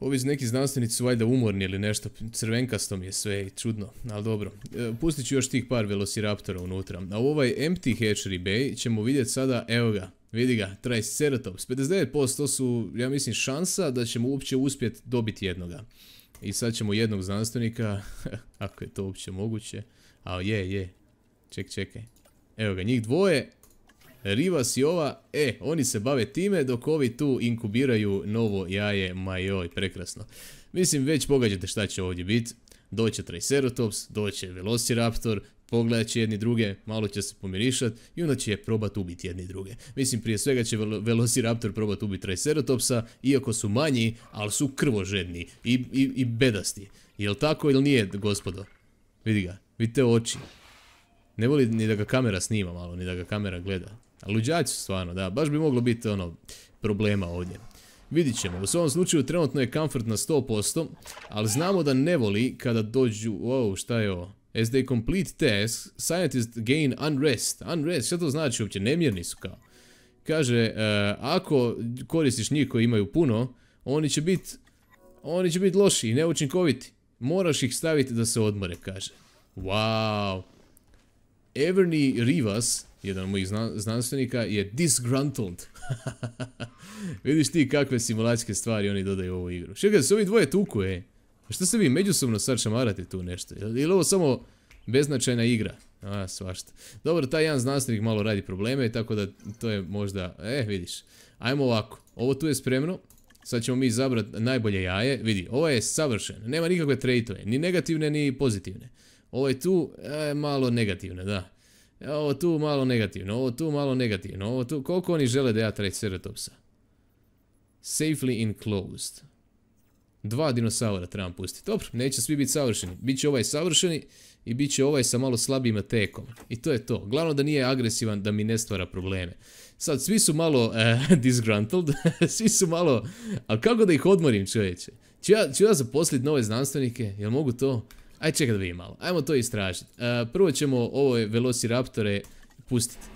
Ovi neki znanstvenici su valjda umorni ili nešto, crvenkasto mi je sve i čudno, ali dobro. E, pustit ću još tih par Velociraptora unutra. A u ovaj Empty Hatchery Bay ćemo vidjeti sada, evo ga, vidi ga, Triceratops. pedeset devet posto su, ja mislim, šansa da ćemo uopće uspjeti dobiti jednoga. I sad ćemo jednog znanstvenika, ako je to uopće moguće, a je, je, ček, čekaj. Evo ga, njih dvoje. Rivas i ova, e, oni se bave time dok ovi tu inkubiraju novo jaje, majoj, prekrasno. Mislim, već pogađate šta će ovdje biti. Doće Triceratops, doće Velociraptor, pogledat će jedni druge, malo će se pomirišat i onda će probat ubiti jedni druge. Mislim, prije svega će Velociraptor probat ubiti Triceratopsa, iako su manji, ali su krvožedni i, i, i bedasti. Jel tako ili nije, gospodo? Vidi ga, vidite oči. Ne voli ni da ga kamera snima malo, ni da ga kamera gleda. A luđaci su stvarno, da, baš bi moglo biti ono problema ovdje. Vidit ćemo, u svom slučaju trenutno je comfort na sto posto, ali znamo da ne voli kada dođu, wow, šta je ovo? As they complete tasks, scientists gain unrest. Unrest, šta to znači uopće? Nemjerni su kao. Kaže, uh, ako koristiš njih koji imaju puno, oni će biti, oni će biti loši i neučinkoviti. Moraš ih staviti da se odmore, kaže. Wow. Everny Rivas, jedan od mojih zna znanstvenika, je disgruntled. Vidiš ti kakve simulacijske stvari oni dodaju u ovu igru. Čekaj, se ovi dvoje tuku, ej. Šta se vi međusobno sad šamarate tu nešto? Je li ovo samo beznačajna igra? A, svašta. Dobro, taj jedan znanstvenik malo radi probleme, tako da to je možda... E, vidiš. Ajmo ovako. Ovo tu je spremno. Sad ćemo mi izabrati najbolje jaje. Vidi, ovo je savršen. Nema nikakve traitove. Ni negativne, ni pozitivne. Ovo je tu e, malo negativne, da. Ovo tu malo negativno, ovo tu malo negativno, ovo tu... Koliko oni žele da ja Triceratopsa? Safely enclosed. Dva dinosaura trebam pustiti. Dobro, neće svi biti savršeni. Biće ovaj savršeni i bit će ovaj sa malo slabijim atekom. I to je to. Glavno da nije agresivan, da mi ne stvara probleme. Sad, svi su malo uh, disgruntled. Svi su malo... Ali kako da ih odmorim, čovječe? Ću ja, ću ja zaposliti nove znanstvenike? Jel mogu to? Aj, čekaj da vidim malo. Ajmo to istražiti. Uh, prvo ćemo ove Velociraptore pustiti.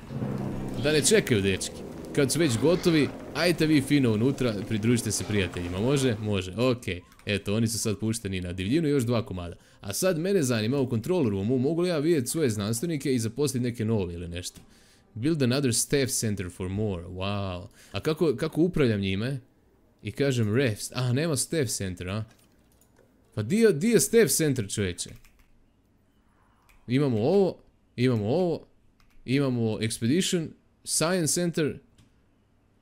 Da ne čekaju, dečki. Kad su već gotovi, ajte vi fino unutra, pridružite se prijateljima. Može? Može. Okej. Eto, oni su sad pušteni na divljinu, još dva komada. A sad mene zanima u control roomu, mogu li ja vidjeti svoje znanstvenike i zaposliti neke nove ili nešto? Build another staff center for more. Wow. A kako, kako upravljam njime? I kažem refs. A, nema staff center, a? Pa di, di je staff center, čovječe? Imamo ovo, imamo ovo, imamo expedition, science center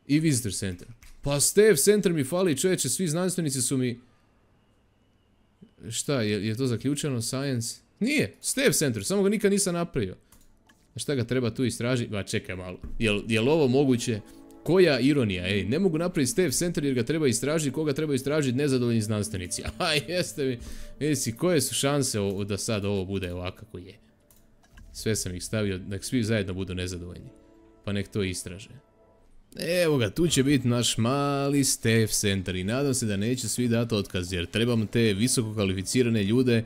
i visitor center. Pa staff center mi fali, čovječe, svi znanstvenici su mi... Šta, je, je to zaključeno? Science? Nije, staff center, samo ga nikad nisam napravio. A šta ga treba tu istražiti? Ba, čekaj malo. Jel, jel ovo moguće? Koja ironija, ej, ne mogu napraviti staff center jer ga treba istražiti, koga treba istražiti nezadovoljni znanstvenici. A jeste mi, jesi, koje su šanse o, da sad ovo bude ovako kako je? Sve sam ih stavio, nek svi zajedno budu nezadovoljni. Pa nek to istraže. Evo ga, tu će biti naš mali staff center i nadam se da neće svi dati otkaz, jer trebamo te visoko kvalificirane ljude,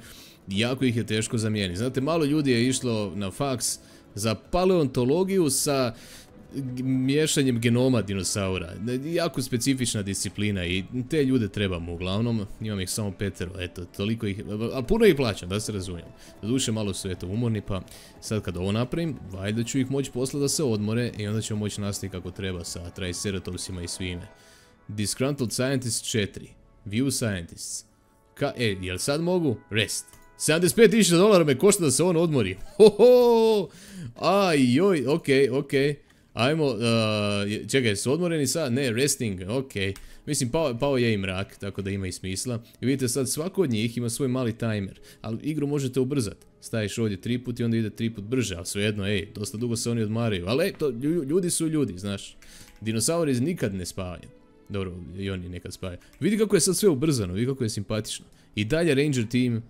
jako ih je teško zamijeniti. Znate, malo ljudi je išlo na faks za paleontologiju sa miješanjem genoma dinosaura. Jako specifična disciplina i te ljude trebamo uglavnom. Imam ih samo petero, eto, toliko ih, ali puno ih plaćam, da se razumijem. Doduše malo su eto umorni, pa sad kad ovo napravim, valjda ću ih moći poslati da se odmore i onda ćemo moći nastaviti kako treba sa Triceratopsima i svime. Disgruntled Scientist četiri. View Scientists. Ka, e, jel sad mogu? Rest. sedamdeset pet tisuća dolara me košta da se on odmori. Hoho! Aj, joj, okej, okej. Ajmo, uh, čekaj, su odmoreni sad? Ne, resting, ok. Mislim, pao, pao je i mrak, tako da ima i smisla. I vidite sad, svako od njih ima svoj mali timer. Ali igru možete ubrzati. Staviš ovdje tri put i onda ide tri put brže. Ali svejedno, ej, dosta dugo se oni odmaraju. Ali ej, to, ljudi su ljudi, znaš. Dinosauri nikad ne spavaju. Dobro, i oni nekad spavaju. Vidi kako je sad sve ubrzano, vidi kako je simpatično. I dalje Ranger team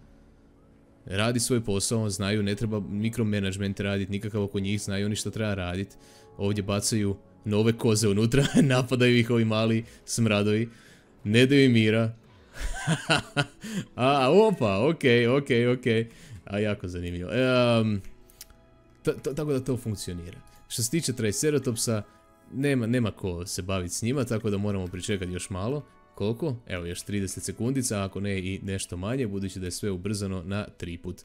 radi svoj posao, znaju, ne treba mikromanagement raditi, nikakav oko njih, znaju oni što treba raditi. Ovdje bacaju nove koze unutra, napadaju ih ovi mali smradovi, ne daju im mira. A, opa, okej, okej, okej. A, jako zanimljivo. Um, tako da to funkcionira. Što se tiče Triceratopsa, nema, nema ko se baviti s njima, tako da moramo pričekati još malo. Koliko? Evo, još trideset sekundica, ako ne i nešto manje, budući da je sve ubrzano na tri put.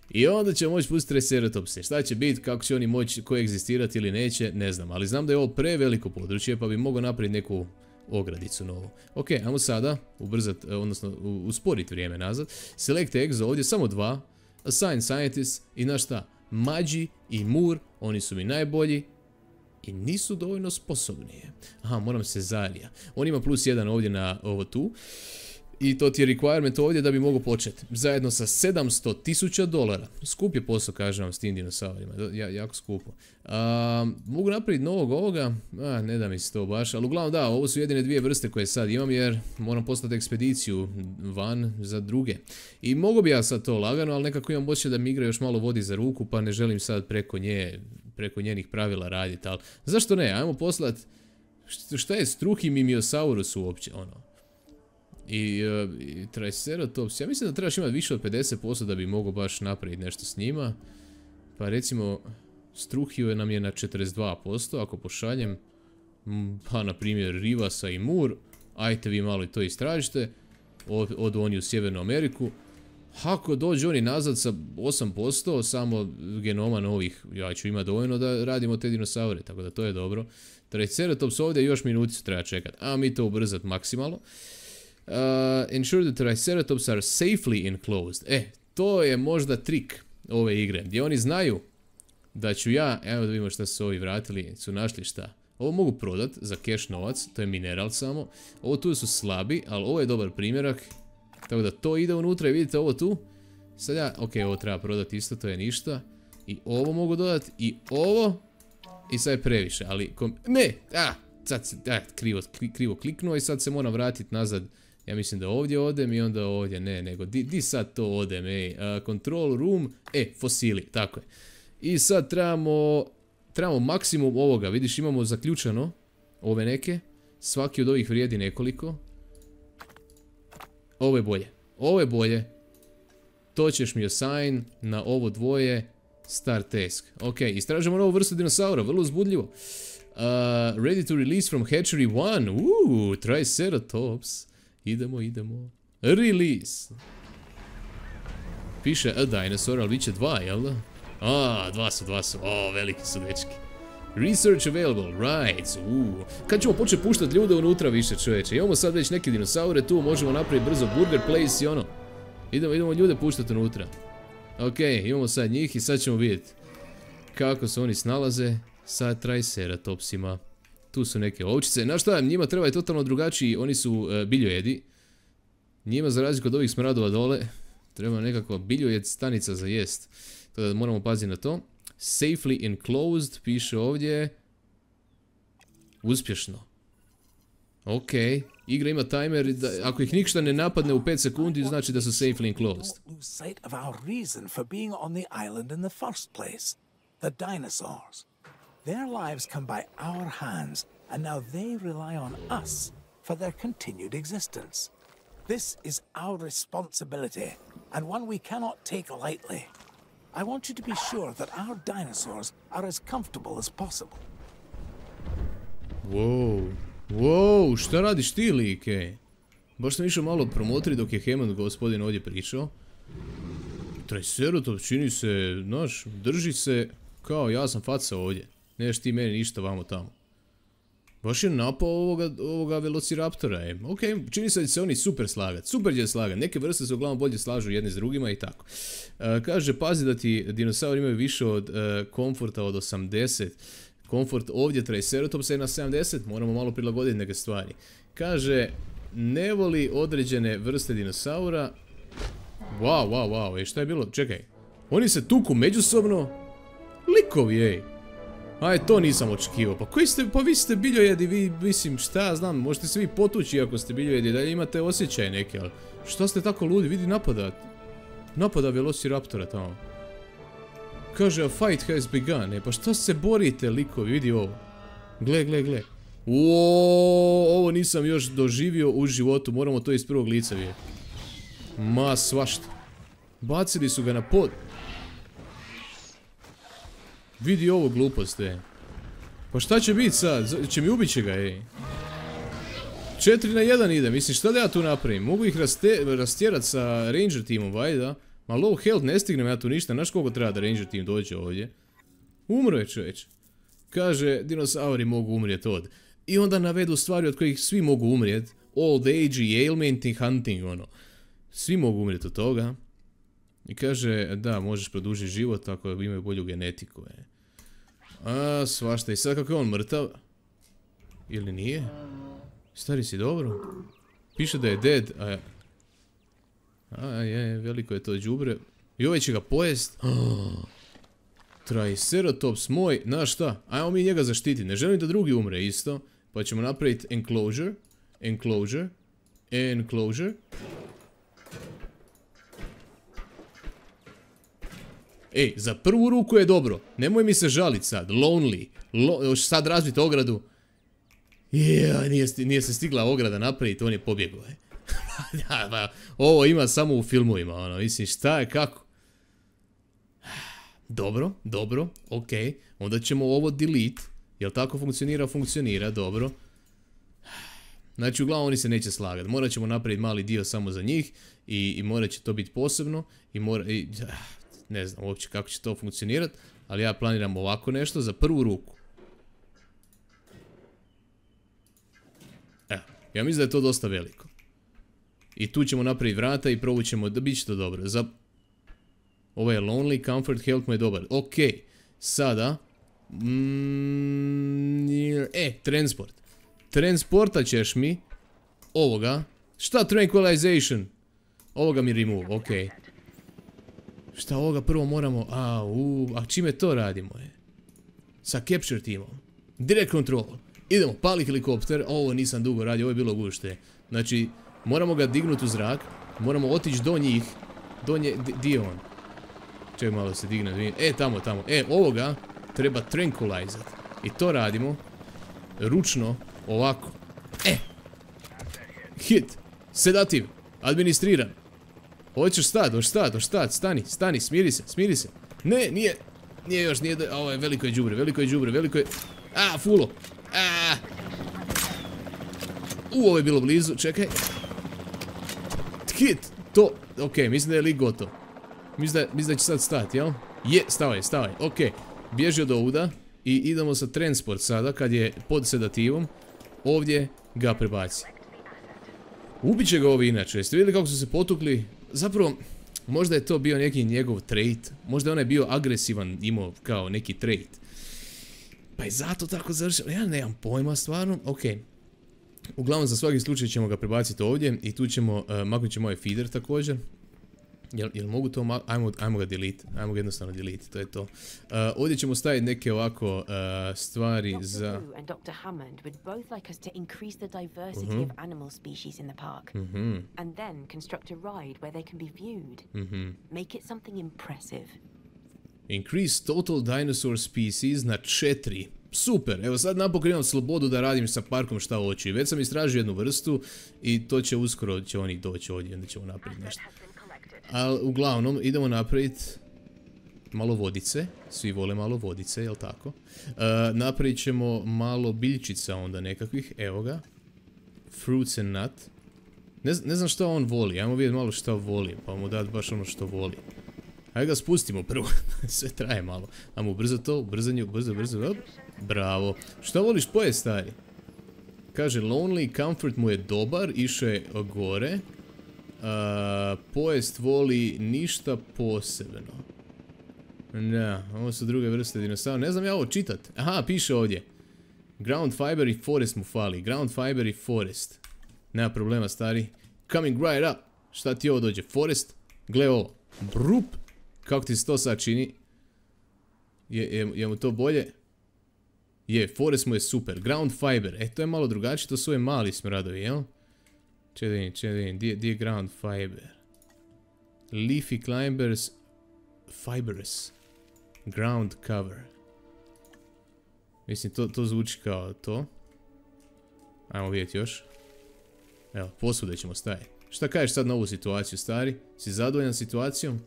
I onda ćemo moći pustiti Triceratopse. Šta će biti, kako će oni moći koegzistirati ili neće, ne znam. Ali znam da je ovo preveliko područje, pa bi mogao napraviti neku ogradicu novu. Ok, ajmo sada ubrzati, odnosno usporiti vrijeme nazad. Select Exo, ovdje samo dva. Assign Scientists i znaš šta? Mađi i Mur, oni su mi najbolji. I nisu dovoljno sposobni. Aha, moram se Zarija. On ima plus jedan ovdje na ovo tu. I to ti je requirement ovdje da bi mogu početi. Zajedno sa sedamsto tisuća dolara. Skup je posao, kažem vam, s tim dinosaurima. Ja, jako skupo. A, mogu napraviti novog ovoga? A, ne da mi se to baš. Ali uglavnom da, ovo su jedine dvije vrste koje sad imam jer moram poslati ekspediciju van za druge. I mogu bi ja sad to lagano, ali nekako imam osjećaj da mi igra još malo vodi za ruku, pa ne želim sad preko nje, preko njenih pravila raditi. Ali zašto ne? Ajmo poslati šta je Struhi Mimiosaurus uopće, ono. I, uh, i Triceratops, ja mislim da trebaš imati više od pedeset posto da bi mogao baš napraviti nešto s njima. Pa recimo, Struhio nam je na četrdeset dva posto, ako pošaljem, pa na primjer Rivasa i Mur, ajte vi malo i to istražite, od, od oni u Sjevernu Ameriku. Ako dođu oni nazad sa osam posto, samo genoma novih, ja ću imati dovoljno da radimo te dinosaure, tako da to je dobro. Triceratops ovdje još minuticu treba čekati, a mi to ubrzati maksimalno. Uh, ensure the Triceratops are safely enclosed. E, to je možda trik ove igre, gdje oni znaju da ću ja, evo da vidimo šta su ovi vratili, su našli šta. Ovo mogu prodat za cash novac, to je mineral samo. Ovo tu su slabi, ali ovo je dobar primjerak. Tako da to ide unutra i vidite ovo tu. Sad ja, ok, ovo treba prodati isto, to je ništa. I ovo mogu dodati, i ovo. I sad je previše, ali, kom, ne, a, sad se, a, krivo, krivo kliknuo i sad se moram vratiti nazad. Ja mislim da ovdje odem i onda ovdje, ne, nego di, di sad to odem, ej, uh, control room, e, fosili, tako je. I sad trebamo, trebamo maksimum ovoga, vidiš imamo zaključano ove neke, svaki od ovih vrijedi nekoliko. Ovo je bolje, ovo je bolje, to ćeš mi assign na ovo dvoje, start task. Ok, istražujemo novu vrstu dinosaura, vrlo uzbudljivo. Uh, ready to release from hatchery one, uuu, Triceratops. Idemo, idemo. Release. Piše a dinosaur, ali bit će dva, jel da? A, dva su, dva su. O, veliki su dečki. Research available, right. Uuu. Kad ćemo početi puštati ljude unutra više, čovječe? Imamo sad već neke dinosaure tu, možemo napraviti brzo burger place i ono. Idemo, idemo ljude puštati unutra. Ok, imamo sad njih i sad ćemo vidjeti kako se oni snalaze sa Triceratopsima. Tu su neke ovčice. Znaš šta, njima treba je totalno drugačiji, oni su uh, biljojedi. Njima za razliku od ovih smradova dole treba nekakva biljojed stanica za jest. Tako da moramo paziti na to. Safely enclosed, piše ovdje. Uspješno. Ok, igra ima timer, da, ako ih ništa ne napadne u pet sekundi, znači da su safely enclosed. Don't lose sight of our reason for being on the island in the first place. The dinosaurs. Their lives come by our hands, and now they rely on us for their continued existence. This is our responsibility, and one we cannot take lightly. I want you to be sure that our dinosaurs are as comfortable as possible. Wow, wow, šta radiš ti, like? Baš sam išao malo promotri dok je Hammond gospodin ovdje pričao. Triceratop čini se, znaš, drži se kao ja sam faca ovdje. Neš ti meni ništa vamo tamo. Baš je napao ovoga, ovoga Velociraptora, e. Ok, čini se da će se oni super slagat, super će slagat. Neke vrste se uglavnom bolje slažu jedne s drugima i tako. Uh, kaže, pazi da ti dinosauri imaju više od uh, komforta od osamdeset. Komfort ovdje Triceratopsa je na sedamdeset, moramo malo prilagoditi neke stvari. Kaže, ne voli određene vrste dinosaura. Wow, wow, wow, ej, šta je bilo? Čekaj, oni se tuku međusobno? Likovi, ej. Aj, to nisam očekivao. Pa koji ste, pa vi ste biljojedi, vi, mislim, šta ja znam, možete se vi potući ako ste biljojedi, dalje imate osjećaje neke, ali šta ste tako ludi, vidi napada. Napada Velociraptora tamo. Kaže, a fight has begun, e, pa šta se borite, likovi, vidi ovo. Gle, gle, gle. Uuuu, ovo nisam još doživio u životu, moramo to iz prvog lica vidjeti. Ma, svašta. Bacili su ga na pod. Vidi ovo glupost, ej. Pa šta će biti sad? Će mi ubit će ga, ej. četiri na jedan ide, mislim, šta da ja tu napravim? Mogu ih rastjerat sa Ranger timom, vajda. Ma low health, ne stignem ja tu ništa, znaš koliko treba da Ranger tim dođe ovdje? Umro je čovječ. Kaže, dinosauri mogu umrijeti od. I onda navedu stvari od kojih svi mogu umrijeti. Old age i ailment i hunting, ono. Svi mogu umrijeti od toga. I kaže, da, možeš produžiti život ako imaju bolju genetiku, e. A, svašta. I sad kako je on mrtav? Ili nije? Stari si dobro? Piše da je dead, a... A, je, veliko je to đubre. I ovaj će ga pojest. Oh. Triceratops moj, znaš šta? Ajmo mi njega zaštiti. Ne želim da drugi umre isto. Pa ćemo napraviti enclosure. Enclosure. Enclosure. Ej, za prvu ruku je dobro. Nemoj mi se žalit sad. Lonely. Lo, još sad razbiti ogradu. Jee, nije, nije se stigla ograda napraviti, on je pobjegao. Da, ba, ovo ima samo u filmovima, ono, mislim, šta je, kako? Dobro, dobro, ok. Onda ćemo ovo delete. Jel tako funkcionira? Funkcionira, dobro. Znači, uglavnom oni se neće slagati. Morat ćemo napraviti mali dio samo za njih. I, i morat će to biti posebno. I mora... I, ne znam uopće kako će to funkcionirati. Ali ja planiram ovako nešto za prvu ruku. Evo, ja mislim da je to dosta veliko. I tu ćemo napraviti vrata i provućemo da bit će to dobro. Za... Ovo je lonely, comfort, health mu je dobar. Ok, sada... Mm, e, transport. Transportat ćeš mi ovoga. Šta tranquilization? Ovoga mi remove, ok. Šta ovoga prvo moramo... A, u, a čime to radimo je? Sa capture timom. Direct control. Idemo, pali helikopter. Ovo nisam dugo radio, ovo je bilo gušte. Znači, moramo ga dignuti u zrak. Moramo otići do njih. Do nje... Di je on? Čekaj malo se digne. E, tamo, tamo. E, ovoga treba tranquilizat. I to radimo. Ručno. Ovako. E! Hit. Sedativ. Administriran. Hoćeš stat, hoćeš stat, hoćeš stat. Stani, stani, smiri se, smiri se. Ne, nije. Nije još, nije. Ovo je veliko je đubre, veliko je đubre, veliko je... A, fulo. A. U, ovo je bilo blizu, čekaj. Hit. To. Ok, mislim da je lik gotov. Mislim da, mislim da će sad stati, jel? Je, stavaj, stavaj, ok. Bježi od ovuda. I idemo sa transport sada, kad je pod sedativom. Ovdje ga prebaci. Ubiće ga ovi inače, jeste vidjeli kako su se potukli? Zapravo, možda je to bio neki njegov trait. Možda je onaj bio agresivan, imao kao neki trait. Pa je zato tako završeno. Ja nemam pojma stvarno, ok. Uglavnom za svaki slučaj ćemo ga prebaciti ovdje. I tu ćemo, uh, maknut ćemo ovaj feeder također. Jel, jel mogu to ma... Ajmo, ajmo ga delete. Ajmo ga jednostavno delete. To je to. Uh, ovdje ćemo staviti neke ovako uh, stvari Doctor za... Wu and Doctor Hammond would both like us to increase the diversity Mhm. of animal species in the park. Mhm. And then construct a ride where they can be viewed. Mhm. Make it something impressive. Increase total dinosaur species na četiri. Super, evo sad napokon imam slobodu da radim sa parkom šta hoću. I već sam istražio jednu vrstu i to će uskoro, će oni doći ovdje i onda ćemo napraviti nešto. Ali uglavnom idemo napraviti malo vodice, svi vole malo vodice, jel tako? Uh, napravit ćemo malo biljčica onda nekakvih, evo ga. Fruits and nut. Ne, ne znam šta on voli, ajmo vidjeti malo šta voli, pa mu dati baš ono što voli. Ajde ga spustimo prvo, sve traje malo. Ajmo ubrzati to, ubrzanje, brzo, brzo, op. Bravo. Šta voliš pojest, stari? Kaže, lonely comfort mu je dobar, išao je gore. Uh, pojest voli ništa posebno. Ne, ovo su druge vrste dinosaura. Ne znam ja ovo čitat. Aha, piše ovdje. Ground fiber i forest mu fali. Ground fiber i forest. Nema problema, stari. Coming right up. Šta ti ovo dođe? Forest? Gle ovo. Brup. Kako ti se to sad čini? Je, je, je mu to bolje? Je, forest mu je super. Ground fiber. E, to je malo drugačije. To su ove mali smradovi, jel? Če da vidim, če da vidim. Di je ground fiber? Leafy climbers. Fibrous. Ground cover. Mislim, to, to zvuči kao to. Ajmo vidjeti još. Evo, posvuda ćemo staviti. Šta kažeš sad na ovu situaciju, stari? Si zadovoljan situacijom?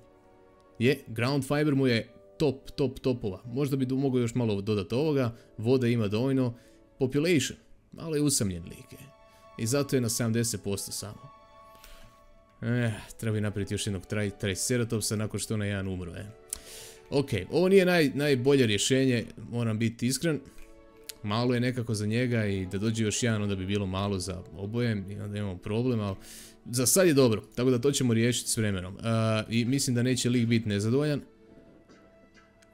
Je, ground fiber mu je top, top, topova. Možda bi mogo još malo dodati ovoga. Voda ima dovoljno. Population. Malo je usamljen lik. I zato je na sedamdeset posto samo. Eh, treba bi napraviti još jednog tri, triceratopsa nakon što onaj jedan umro, eh. Ok, ovo nije naj, najbolje rješenje, moram biti iskren. Malo je nekako za njega i da dođe još jedan onda bi bilo malo za oboje i onda imamo problem, ali za sad je dobro, tako da to ćemo riješiti s vremenom. Uh, I mislim da neće lik biti nezadovoljan.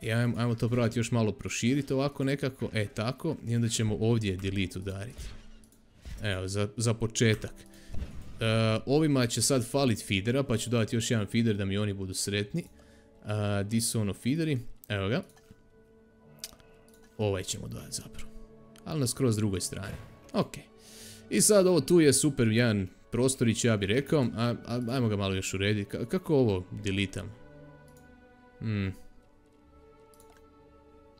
I ajmo, ajmo to probati još malo proširiti ovako nekako, e tako, i onda ćemo ovdje delete udariti. Evo, za, za početak. Uh, ovima će sad falit feedera, pa ću dati još jedan feeder da mi oni budu sretni. Uh, di su ono feederi? Evo ga. Ovaj ćemo dodati zapravo. Ali na skroz drugoj strani. Ok. I sad ovo tu je super jedan prostorić, ja bih rekao. A, a, ajmo ga malo još urediti. K kako ovo deletam? Hmm.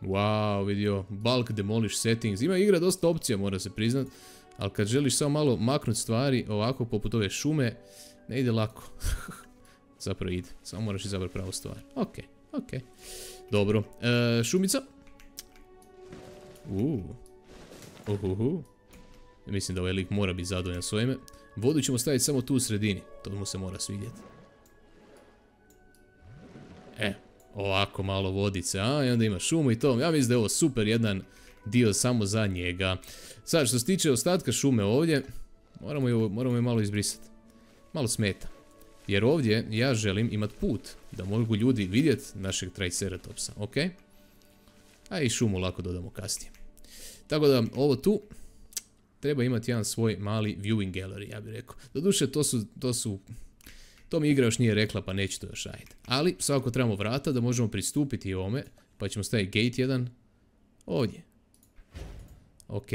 Wow, vidio. Bulk demolish settings. Ima igra dosta opcija, mora se priznat. Ali kad želiš samo malo maknuti stvari, ovako poput ove šume, ne ide lako. Zapravo ide. Samo moraš izabrati pravu stvar. Ok, ok. Dobro. E, šumica. Uuu. Uhuhu. Mislim da ovaj lik mora biti zadovoljan s ovime. Vodu ćemo staviti samo tu u sredini. To mu se mora svidjeti. E, ovako malo vodice, a? I onda ima šumu i to. Ja mislim da je ovo super jedan dio samo za njega. Sad, što se tiče ostatka šume ovdje, moramo je, moramo je malo izbrisati. Malo smeta. Jer ovdje ja želim imati put da mogu ljudi vidjeti našeg triceratopsa, ok? A i šumu lako dodamo kasnije. Tako da ovo tu treba imati jedan svoj mali viewing gallery, ja bih rekao. Doduše to su, to su, to mi igra još nije rekla pa neće to još raditi. Ali svakako trebamo vrata da možemo pristupiti ovome, pa ćemo staviti gate jedan ovdje. Ok.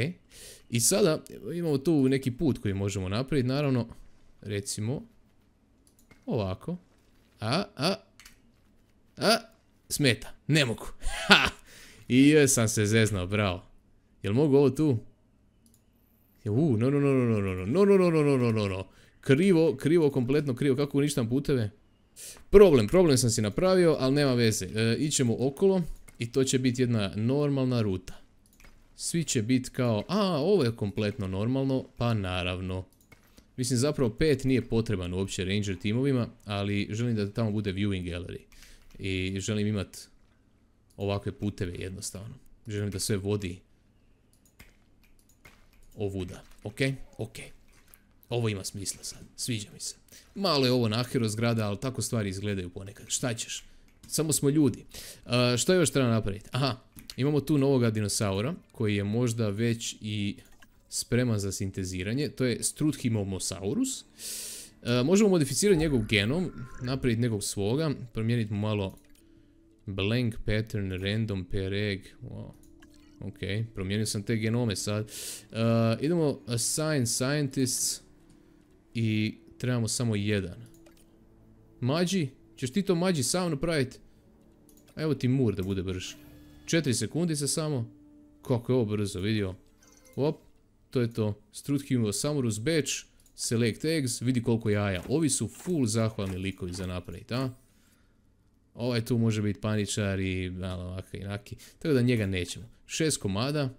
I sada imamo tu neki put koji možemo napraviti, naravno, recimo ovako. A, a, a, smeta, ne mogu. Ha! I još sam se zeznao, bravo. Jel mogu ovo tu? Uuu, no, no, no, no, no, no, no, no, no, no, no, no, no. Krivo, krivo, kompletno krivo, kako uništam puteve? Problem, problem sam si napravio, ali nema veze. E, ićemo okolo i to će biti jedna normalna ruta. Svi će biti kao, a, ovo je kompletno normalno, pa naravno. Mislim, zapravo pet nije potreban uopće ranger timovima, ali želim da tamo bude viewing gallery. I želim imati ovakve puteve jednostavno. Želim da sve vodi ovuda. Ok? Ok. Ovo ima smisla sad. Sviđa mi se. Malo je ovo nahero zgrada, ali tako stvari izgledaju ponekad. Šta ćeš? Samo smo ljudi. Uh, šta još treba napraviti? Aha, imamo tu novoga dinosaura koji je možda već i spreman za sinteziranje. To je Struthimosaurus. Uh, možemo modificirati njegov genom, napraviti nekog svoga, promijeniti mu malo blank pattern, random per egg. Wow. Ok, promijenio sam te genome sad. Uh, idemo assign scientists i trebamo samo jedan. Mađi, ćeš ti to Mađi sam napraviti? Evo ti mur da bude brže. četiri sekundice samo. Kako je ovo brzo, vidio? Op, to je to. Struthium Samurus batch, select eggs, vidi koliko jaja. Ovi su full zahvalni likovi za napraviti, a? Ovaj tu može biti paničar i malo ovakav i naki. Tako da njega nećemo. Šest komada.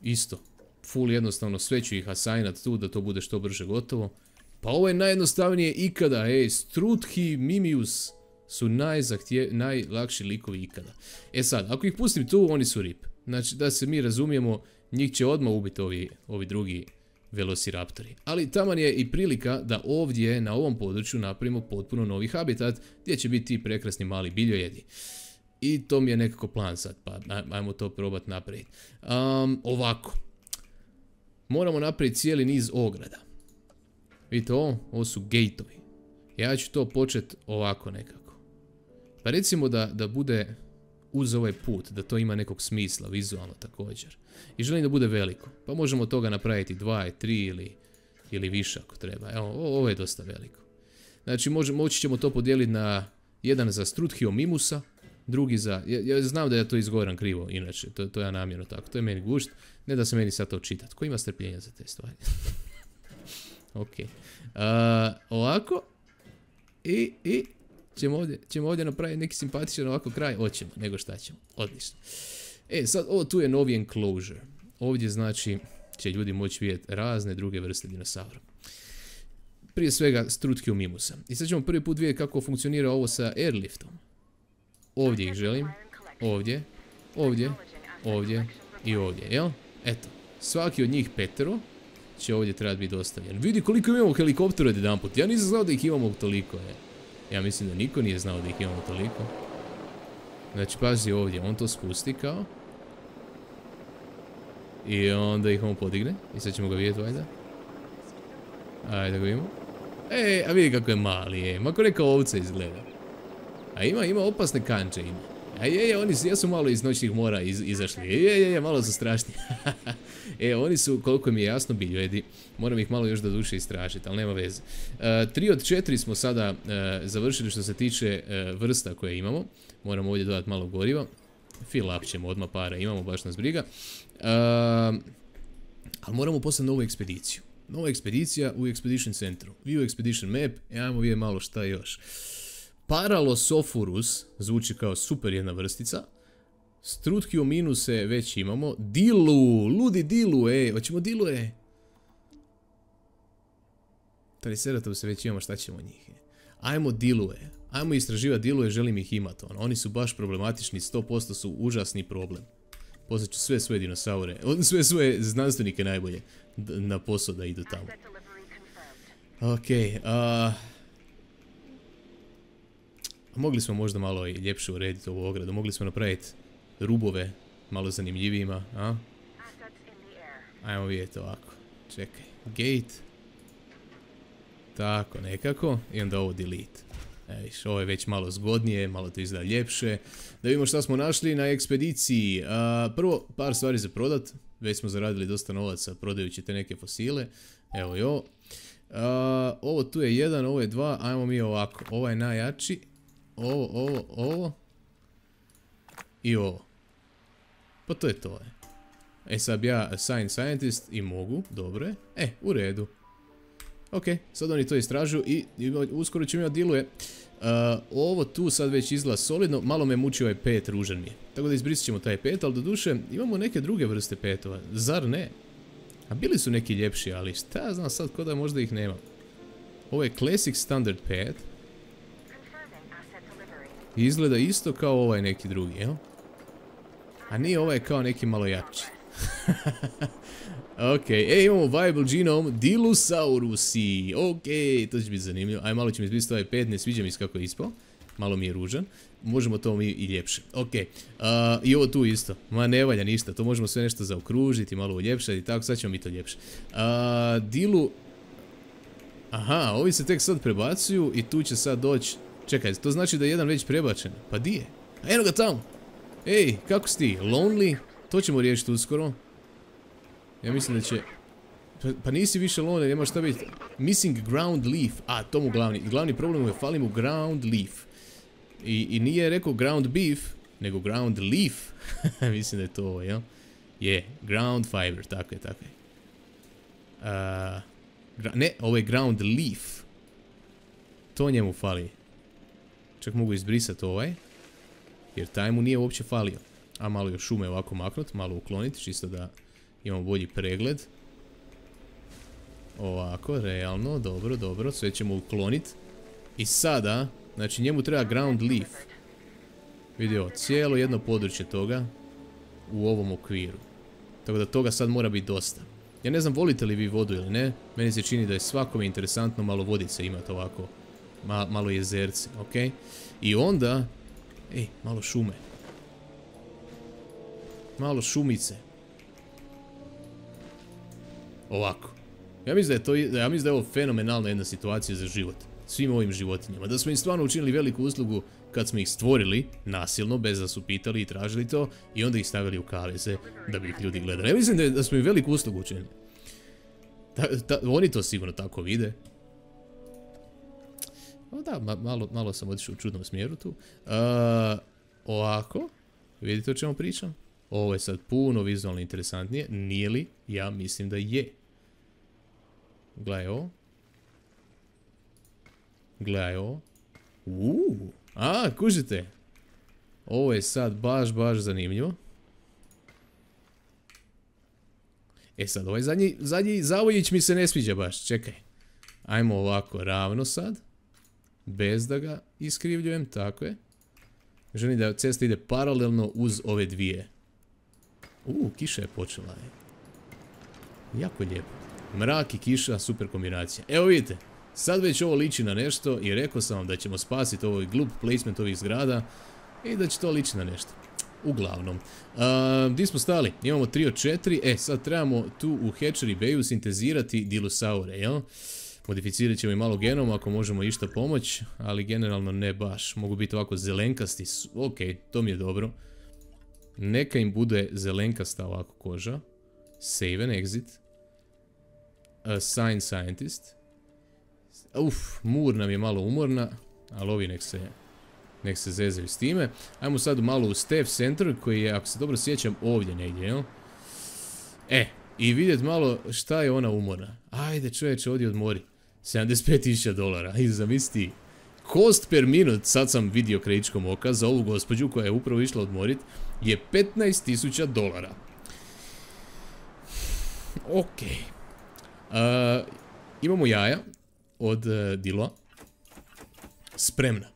Isto. Full jednostavno, sve ću ih assignat tu da to bude što brže gotovo. Pa ovo je najjednostavnije ikada, ej. Struthi Mimius su najzahtje, najlakši likovi ikada. E sad, ako ih pustim tu, oni su rip. Znači, da se mi razumijemo, njih će odmah ubiti ovi, ovi drugi velociraptori. Ali taman je i prilika da ovdje, na ovom području, napravimo potpuno novi habitat, gdje će biti ti prekrasni mali biljojedi. I to mi je nekako plan sad, pa ajmo to probati napraviti. Um, ovako. Moramo napraviti cijeli niz ograda. Vidite ovo? Ovo su gateovi. Ja ću to početi ovako nekako. Pa recimo da, da bude uz ovaj put, da to ima nekog smisla, vizualno također. I želim da bude veliko. Pa možemo od toga napraviti dva, tri ili, ili više ako treba. Evo, ovo je dosta veliko. Znači, može, moći ćemo to podijeliti na jedan za Struthiomimiusa, drugi za... Ja, ja znam da ja to izgovaram krivo, inače, to, to ja namjerno tako. To je meni gušt, ne da se meni sad to čitat. Ko ima strpljenja za te stvari? Ok. Uh, ovako. I, i ćemo ovdje, ćemo ovdje napraviti neki simpatičan ovako kraj. Hoćemo, nego šta ćemo. Odlično. E, sad ovo tu je novi enclosure. Ovdje znači će ljudi moći vidjeti razne druge vrste dinosaura. Prije svega Struthiomimiusa. I sad ćemo prvi put vidjeti kako funkcionira ovo sa airliftom. Ovdje ih želim. Ovdje. Ovdje. Ovdje. I ovdje, jel? Eto. Svaki od njih petero će ovdje trebati biti dostavljen. Vidi koliko imamo helikoptera jedan put. Ja nisam znao da ih imamo toliko. Je. Ja mislim da niko nije znao da ih imamo toliko. Znači pazi ovdje, on to spusti kao. I onda ih on podigne. I sad ćemo ga vidjeti valjda. Ajde da ga vidimo. E, a vidi kako je mali, je. Mako neka ovca izgleda. A ima, ima opasne kanče, ima. A je, je, oni su, ja su malo iz noćnih mora iz, izašli. Je, je, je, malo su strašni. E, oni su, koliko mi je jasno, biljojedi. Moram ih malo još do duše istražiti, ali nema veze. Uh, tri od četiri smo sada uh, završili što se tiče uh, vrsta koje imamo. Moramo ovdje dodati malo goriva. Fill up ćemo odmah para, imamo, baš nas briga. Uh, ali moramo poslati novu ekspediciju. Nova ekspedicija u Expedition Centru. View Expedition Map, e, ajmo vidjeti malo šta još. Paralosophorus, zvuči kao super jedna vrstica. Struthiominuse već imamo. Dilu, ludi Dilu, ej, hoćemo Dilu, ej. Triceratopse već imamo, šta ćemo njih? Ajmo Dilue, ajmo istraživati Dilue, želim ih imati. Ono. Oni su baš problematični, sto posto su užasni problem. Poslaću sve svoje dinosaure, sve svoje znanstvenike najbolje na posao da idu tamo. Okej, a... mogli smo možda malo i ljepše urediti ovu ogradu, mogli smo napraviti rubove malo zanimljivijima, a? Ajmo vidjeti ovako, čekaj, gate, tako nekako, i onda ovo delete. E, viš, ovo je već malo zgodnije, malo to izgleda ljepše. Da vidimo šta smo našli na ekspediciji. A, prvo, par stvari za prodat, već smo zaradili dosta novaca prodajući te neke fosile, evo i ovo. A, ovo tu je jedan, ovo je dva, ajmo mi ovako, ovo je najjači. Ovo, ovo, ovo. I ovo. Pa to je to. Je. E sad bi ja assign scientist i mogu, dobro je. E, u redu. Ok, sad oni to istražuju i, i uskoro ćemo imati Diluje. Uh, ovo tu sad već izgleda solidno, malo me muči ovaj pet, ružan mi je. Tako da izbrisit ćemo taj pet, ali do duše imamo neke druge vrste petova, zar ne? A bili su neki ljepši, ali šta ja znam sad, ko da možda ih nema. Ovo je Classic Standard pet. Izgleda isto kao ovaj neki drugi, jel? A nije ovaj kao neki malo jači. Ok, e, imamo Viable Genome Dilosaurusi. Ok, to će biti zanimljivo. Aj, malo ćemo izbrisati ovaj pet, ne sviđa mi se kako je ispao. Malo mi je ružan. Možemo to mi i ljepše. Ok, uh, i ovo tu isto. Ma ne valja ništa, to možemo sve nešto zaokružiti, malo uljepšati i tako, sad ćemo mi to ljepše. Uh, Dilu... Aha, ovi se tek sad prebacuju i tu će sad doći... Čekaj, to znači da je jedan već prebačen. Pa di je? A eno ga tamo! Ej, kako si ti? Lonely? To ćemo riješiti uskoro. Ja mislim da će... Pa, pa nisi više lonely, nema šta biti. Missing ground leaf. A, to mu glavni. Glavni problem je fali mu ground leaf. I, i nije rekao ground beef, nego ground leaf. Mislim da je to ovo, jel? Je, ground fiber, tako je, tako je. Uh, ne, ovo je ground leaf. To njemu fali. Čak mogu izbrisati ovaj. Jer taj mu nije uopće falio. A malo još šume ovako maknut, malo ukloniti, čisto da imamo bolji pregled. Ovako, realno, dobro, dobro, sve ćemo ukloniti. I sada, znači njemu treba ground leaf. Vidio, cijelo jedno područje toga u ovom okviru. Tako da toga sad mora biti dosta. Ja ne znam, volite li vi vodu ili ne, meni se čini da je svakome interesantno malo vodice imati ovako. Ma, malo jezerce, ok? I onda, ej, malo šume. Malo šumice. Ovako. Ja mislim da je to, ja mislim da je ovo fenomenalna jedna situacija za život. Svim ovim životinjama. Da smo im stvarno učinili veliku uslugu kad smo ih stvorili, nasilno, bez da su pitali i tražili to, i onda ih stavili u kaveze da bi ih ljudi gledali. Ja mislim da, je, da smo im veliku uslugu učinili. Ta, ta, oni to sigurno tako vide. O da, ma, malo, malo sam otišao u čudnom smjeru tu. Uh, ovako. Vidite o čemu pričam? Ovo je sad puno vizualno interesantnije. Nije li? Ja mislim da je. Gledaj ovo. Gledaj ovo. Uuu. A, kužite. Ovo je sad baš, baš zanimljivo. E sad, ovaj zadnji, zadnji zavojić mi se ne sviđa baš. Čekaj. Ajmo ovako ravno sad. Bez da ga iskrivljujem, tako je. Želim da cesta ide paralelno uz ove dvije. Uuu, kiša je počela. Jako lijepo. Mrak i kiša, super kombinacija. Evo vidite, sad već ovo liči na nešto i rekao sam vam da ćemo spasiti ovaj glup placement ovih zgrada i da će to liči na nešto. Uglavnom. Uh, gdje smo stali? Imamo tri od četiri. E, sad trebamo tu u Hatchery Bayu sintezirati dilosaure, jel? Modificirat ćemo i malo genom ako možemo išta pomoć, ali generalno ne baš. Mogu biti ovako zelenkasti. Ok, to mi je dobro. Neka im bude zelenkasta ovako koža. Save and exit. Assign scientist. Uf, Mur nam je malo umorna, ali ovi nek se, nek se zezaju s time. Ajmo sad malo u Staff Center koji je, ako se dobro sjećam, ovdje negdje, jel? E, i vidjet malo šta je ona umorna. Ajde čovječe, ovdje odmori. sedamdeset pet tisuća dolara, i zamisli. Cost per minut, sad sam vidio krajičkom oka, za ovu gospođu koja je upravo išla odmorit, je petnaest tisuća dolara. Ok. Uh, imamo jaja od uh, Diloa. Spremna.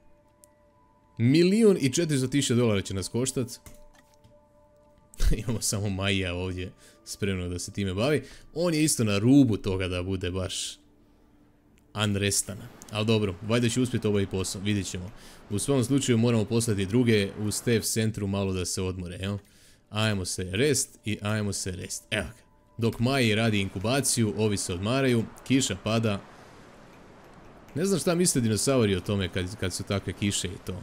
Milijun i četiristo tisuća dolara će nas koštat. Imamo samo Maija ovdje spremno da se time bavi. On je isto na rubu toga da bude baš unrestana. Ali dobro, valjda će uspjeti ovaj posao, vidjet ćemo. U svom slučaju moramo poslati druge u Staff Centru malo da se odmore, jel? Ajmo se rest i ajmo se rest. Evo ga. Dok Maji radi inkubaciju, ovi se odmaraju, kiša pada. Ne znam šta misle dinosauri o tome kad, kad su takve kiše i to.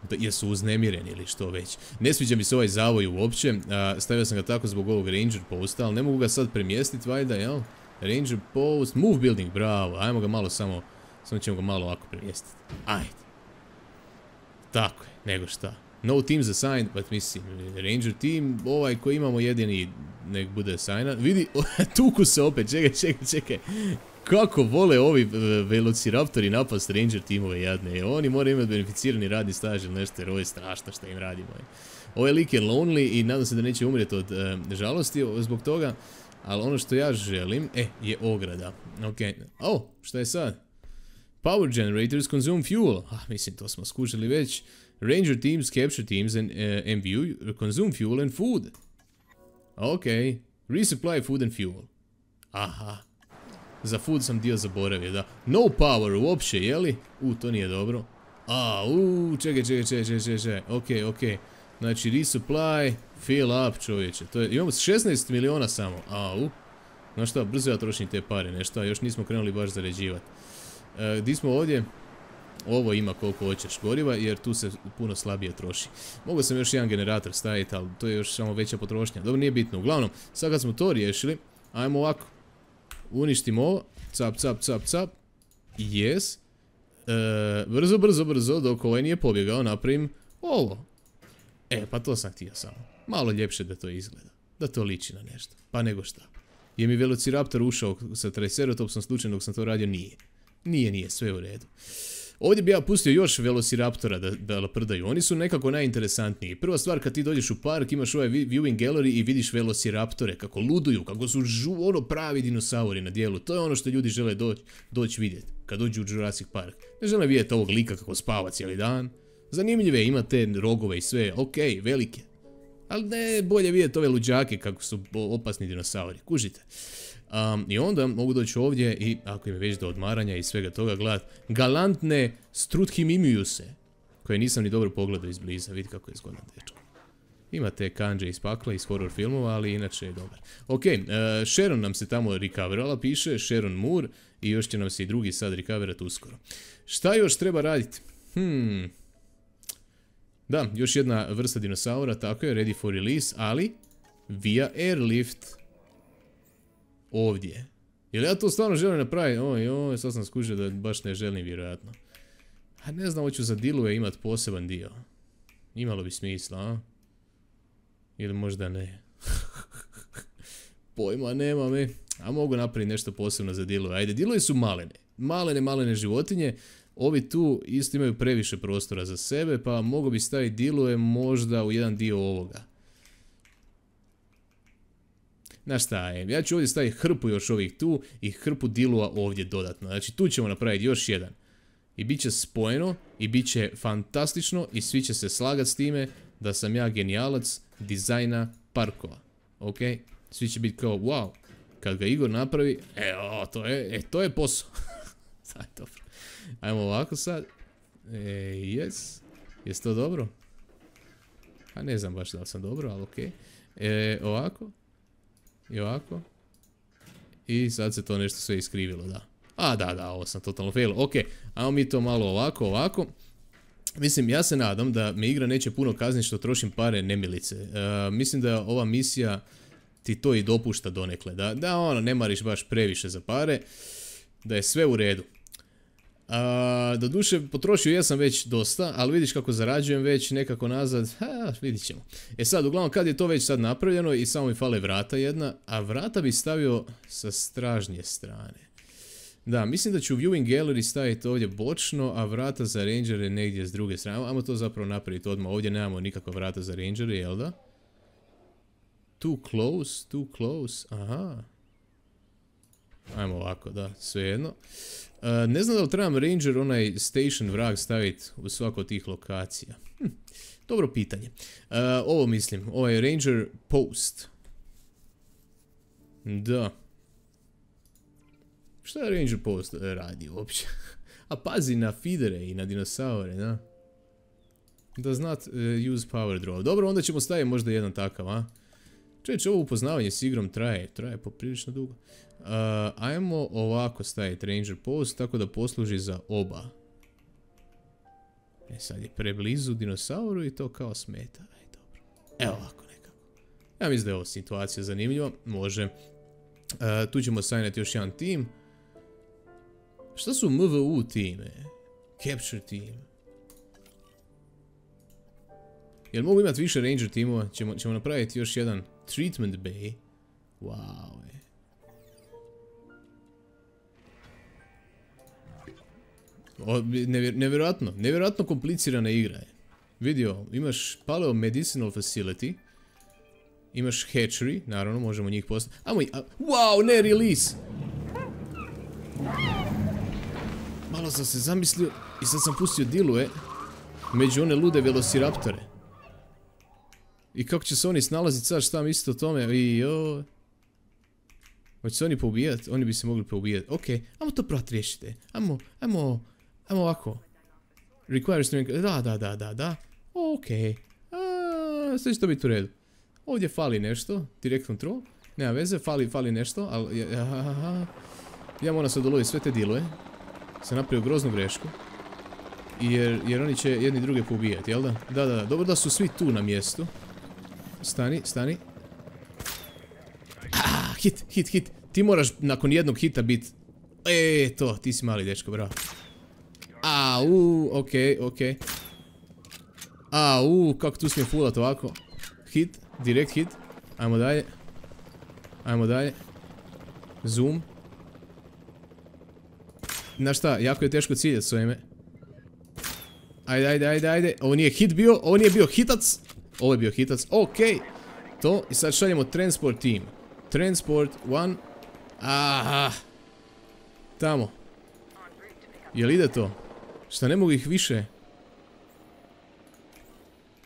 Da, jesu uznemireni ili što već. Ne sviđa mi se ovaj zavoj uopće. A, stavio sam ga tako zbog ovog Ranger posta, ali ne mogu ga sad premjestiti, valjda, jel? Ranger post, move building, bravo. Ajmo ga malo samo, samo ćemo ga malo ovako premjestiti. Ajde. Tako je, nego šta. No teams assigned, but mislim, Ranger team, ovaj koji imamo jedini, nek bude assignan. Vidi, tuku se opet, čekaj, čekaj, čekaj. Kako vole ovi velociraptori napast Ranger timove jadne. Oni moraju imati beneficirani radni staž ili nešto, jer ovo je strašno što im radimo. Ovaj lik je lonely i nadam se da neće umrijeti od uh, žalosti zbog toga. Ali ono što ja želim, e, je ograda. Ok, oh, šta je sad? Power generators consume fuel. Ah, mislim, to smo skušali već. Ranger teams, capture teams and uh, M V U consume fuel and food. Ok, resupply food and fuel. Aha. Za food sam dio zaboravio, da. No power uopće, jeli? U, to nije dobro. A, u, čekaj, čekaj, čekaj, čekaj, čekaj. Ok, ok. Znači, resupply, fill up, čovječe. To je, imamo šesnaest miliona samo. A, u. Znaš šta, brzo ja trošim te pare, nešto, a još nismo krenuli baš zaređivati. E, di smo ovdje? Ovo ima koliko hoćeš goriva, jer tu se puno slabije troši. Mogao sam još jedan generator staviti, ali to je još samo veća potrošnja. Dobro, nije bitno. Uglavnom, sad kad smo to riješili, ajmo ovako. Uništimo ovo. Cap, cap, cap, cap. Yes. E, brzo, brzo, brzo, dok ovaj nije pobjegao, napravim ovo. E, pa to sam htio samo. Malo ljepše da to izgleda. Da to liči na nešto. Pa nego šta. Je mi Velociraptor ušao sa Triceratopsom slučajno dok sam to radio? Nije. Nije, nije, sve u redu. Ovdje bi ja pustio još Velociraptora da, da laprdaju. Oni su nekako najinteresantniji. Prva stvar, kad ti dođeš u park, imaš ovaj viewing gallery i vidiš Velociraptore kako luduju, kako su žu, ono pravi dinosauri na dijelu. To je ono što ljudi žele doći doć vidjeti kad dođu u Jurassic Park. Ne žele vidjeti ovog lika kako spava cijeli dan. Zanimljive, ima te rogove i sve, ok, velike. Ali ne, bolje vidjeti ove luđake kako su opasni dinosauri, kužite. Um, I onda mogu doći ovdje i, ako im je već do odmaranja i svega toga, gledat galantne Struthimimiuse, koje nisam ni dobro pogledao izbliza, vidi kako je zgodan dečko. Ima te kanđe iz pakla, iz horror filmova, ali inače je dobar. Ok, uh, Sharon nam se tamo recoverala, piše, Sharon Moore, i još će nam se i drugi sad recoverat uskoro. Šta još treba raditi? Hmm... Da, još jedna vrsta dinosaura, tako je, ready for release, ali via airlift ovdje. Jel ja to stvarno želim napraviti? Oj, oj, sad sam skužio da baš ne želim, vjerojatno. A ne znam, hoću za dilove imati poseban dio. Imalo bi smisla, a? Ili možda ne. Pojma, nema me. A mogu napraviti nešto posebno za dilove. Ajde, dilovi su malene. Malene, malene životinje. Ovi tu isto imaju previše prostora za sebe, pa mogu bi staviti dilove možda u jedan dio ovoga. Znaš šta je, ja ću ovdje staviti hrpu još ovih tu i hrpu dilova ovdje dodatno. Znači tu ćemo napraviti još jedan. I bit će spojeno, i bit će fantastično, i svi će se slagati s time da sam ja genijalac dizajna parkova. Ok? Svi će biti kao, wow, kad ga Igor napravi, e, o, to je, e, to je posao. Sad, dobro. Ajmo ovako sad. E, yes. Jesi to dobro? A ne znam baš da li sam dobro, ali okej. E, ovako. I ovako. I sad se to nešto sve iskrivilo, da. A, da, da, ovo sam totalno fail. Ok, ajmo mi to malo ovako, ovako. Mislim, ja se nadam da me igra neće puno kazniti što trošim pare nemilice. E, mislim da ova misija ti to i dopušta donekle. Da, da ono, ne mariš baš previše za pare. Da je sve u redu. Uh, doduše, potrošio ja sam već dosta, ali vidiš kako zarađujem već nekako nazad, ha, vidit ćemo. E sad, uglavnom, kad je to već sad napravljeno i samo mi fale vrata jedna, a vrata bi stavio sa stražnje strane. Da, mislim da ću viewing gallery staviti ovdje bočno, a vrata za rangere negdje s druge strane. Ajmo to zapravo napraviti odmah, ovdje nemamo nikakva vrata za rangere, jel da? Too close, too close, aha. Ajmo ovako, da, svejedno. Uh, ne znam da li trebam ranger onaj station vrag staviti u svaku od tih lokacija. Hm, dobro pitanje. Uh, ovo mislim, ovaj ranger post. Da. Šta je ranger post radi uopće? A pazi na feedere i na dinosaure, da? Does not uh, use power draw. Dobro, onda ćemo staviti možda jedan takav, a? Čeće, ovo upoznavanje s igrom traje, traje poprilično dugo. Uh, ajmo ovako staviti ranger post, tako da posluži za oba. E sad je preblizu dinosauru i to kao smeta. Aj, dobro. Evo ovako nekako. Ja mislim da je ovo situacija zanimljiva. Može. Uh, tu ćemo sajnati još jedan tim. Šta su M V U time? Capture team. Jel mogu imati više ranger timova? Ćemo, ćemo napraviti još jedan treatment bay. Wow, je. O, nevjer, nevjerojatno, nevjerojatno komplicirana igra je. Vidio, imaš paleo medicinal facility. Imaš hatchery, naravno, možemo njih postaviti. Amo, a, wow, ne release! Malo sam se zamislio i sad sam pustio dilove među one lude velociraptore. I kako će se oni snalaziti sad, šta mislite o tome? I jo. Hoće se oni poubijati? Oni bi se mogli poubijati. Ok, ajmo to prati riješite. Ajmo, ajmo, ajmo ovako. Require strength, da, da, da, da, da. Ok. A, sve će to biti u redu. Ovdje fali nešto, direct control. Nema veze, fali, fali nešto, ali... Ja, ja, ja moram sad uloviti sve te dilove. Sam napravio groznu grešku. Jer, jer oni će jedni druge poubijati, jel da? Da, da, da, dobro da su svi tu na mjestu. Stani, stani. Ah, hit, hit, hit. Ti moraš nakon jednog hita biti... E, to, ti si mali dečko, bravo. Au, okej, okej. Au, kako tu smijem fulat ovako. Hit, direkt hit. Ajmo dalje. Ajmo dalje. Zoom. Znaš šta, jako je teško ciljati s ovime. Ajde, ajde, ajde, ajde. Ovo nije hit bio, ovo nije bio hitac. Ovo je bio hitac, okej. To, i sad šaljemo transport team. Transport one. Aha. Tamo. Jel ide to? Šta, ne mogu ih više?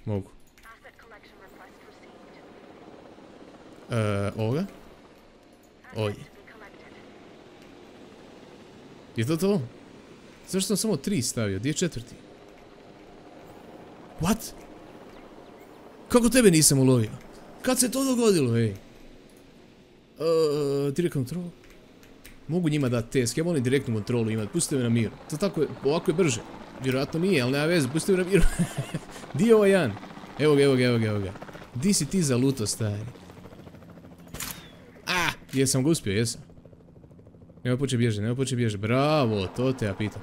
Mogu. Eee, ovoga? Ovdje. Je to to? Zašto sam samo tri stavio? Gdje je četvrti? What? Kako tebe nisam ulovio? Kad se to dogodilo, ej? Eee, direct control? Mogu njima dati test, ja volim direktnu kontrolu imati, pustite me na miru. To tako je, ovako je brže. Vjerojatno nije, ali nema veze, pustite me na miru. Di je ovaj Jan? Evo ga, evo ga, evo ga, evo ga. Di si ti za luto, stari? Ah, jesam ga uspio, jesam. Nema poče bježe, nema poče bježe. Bravo, to te ja pitam.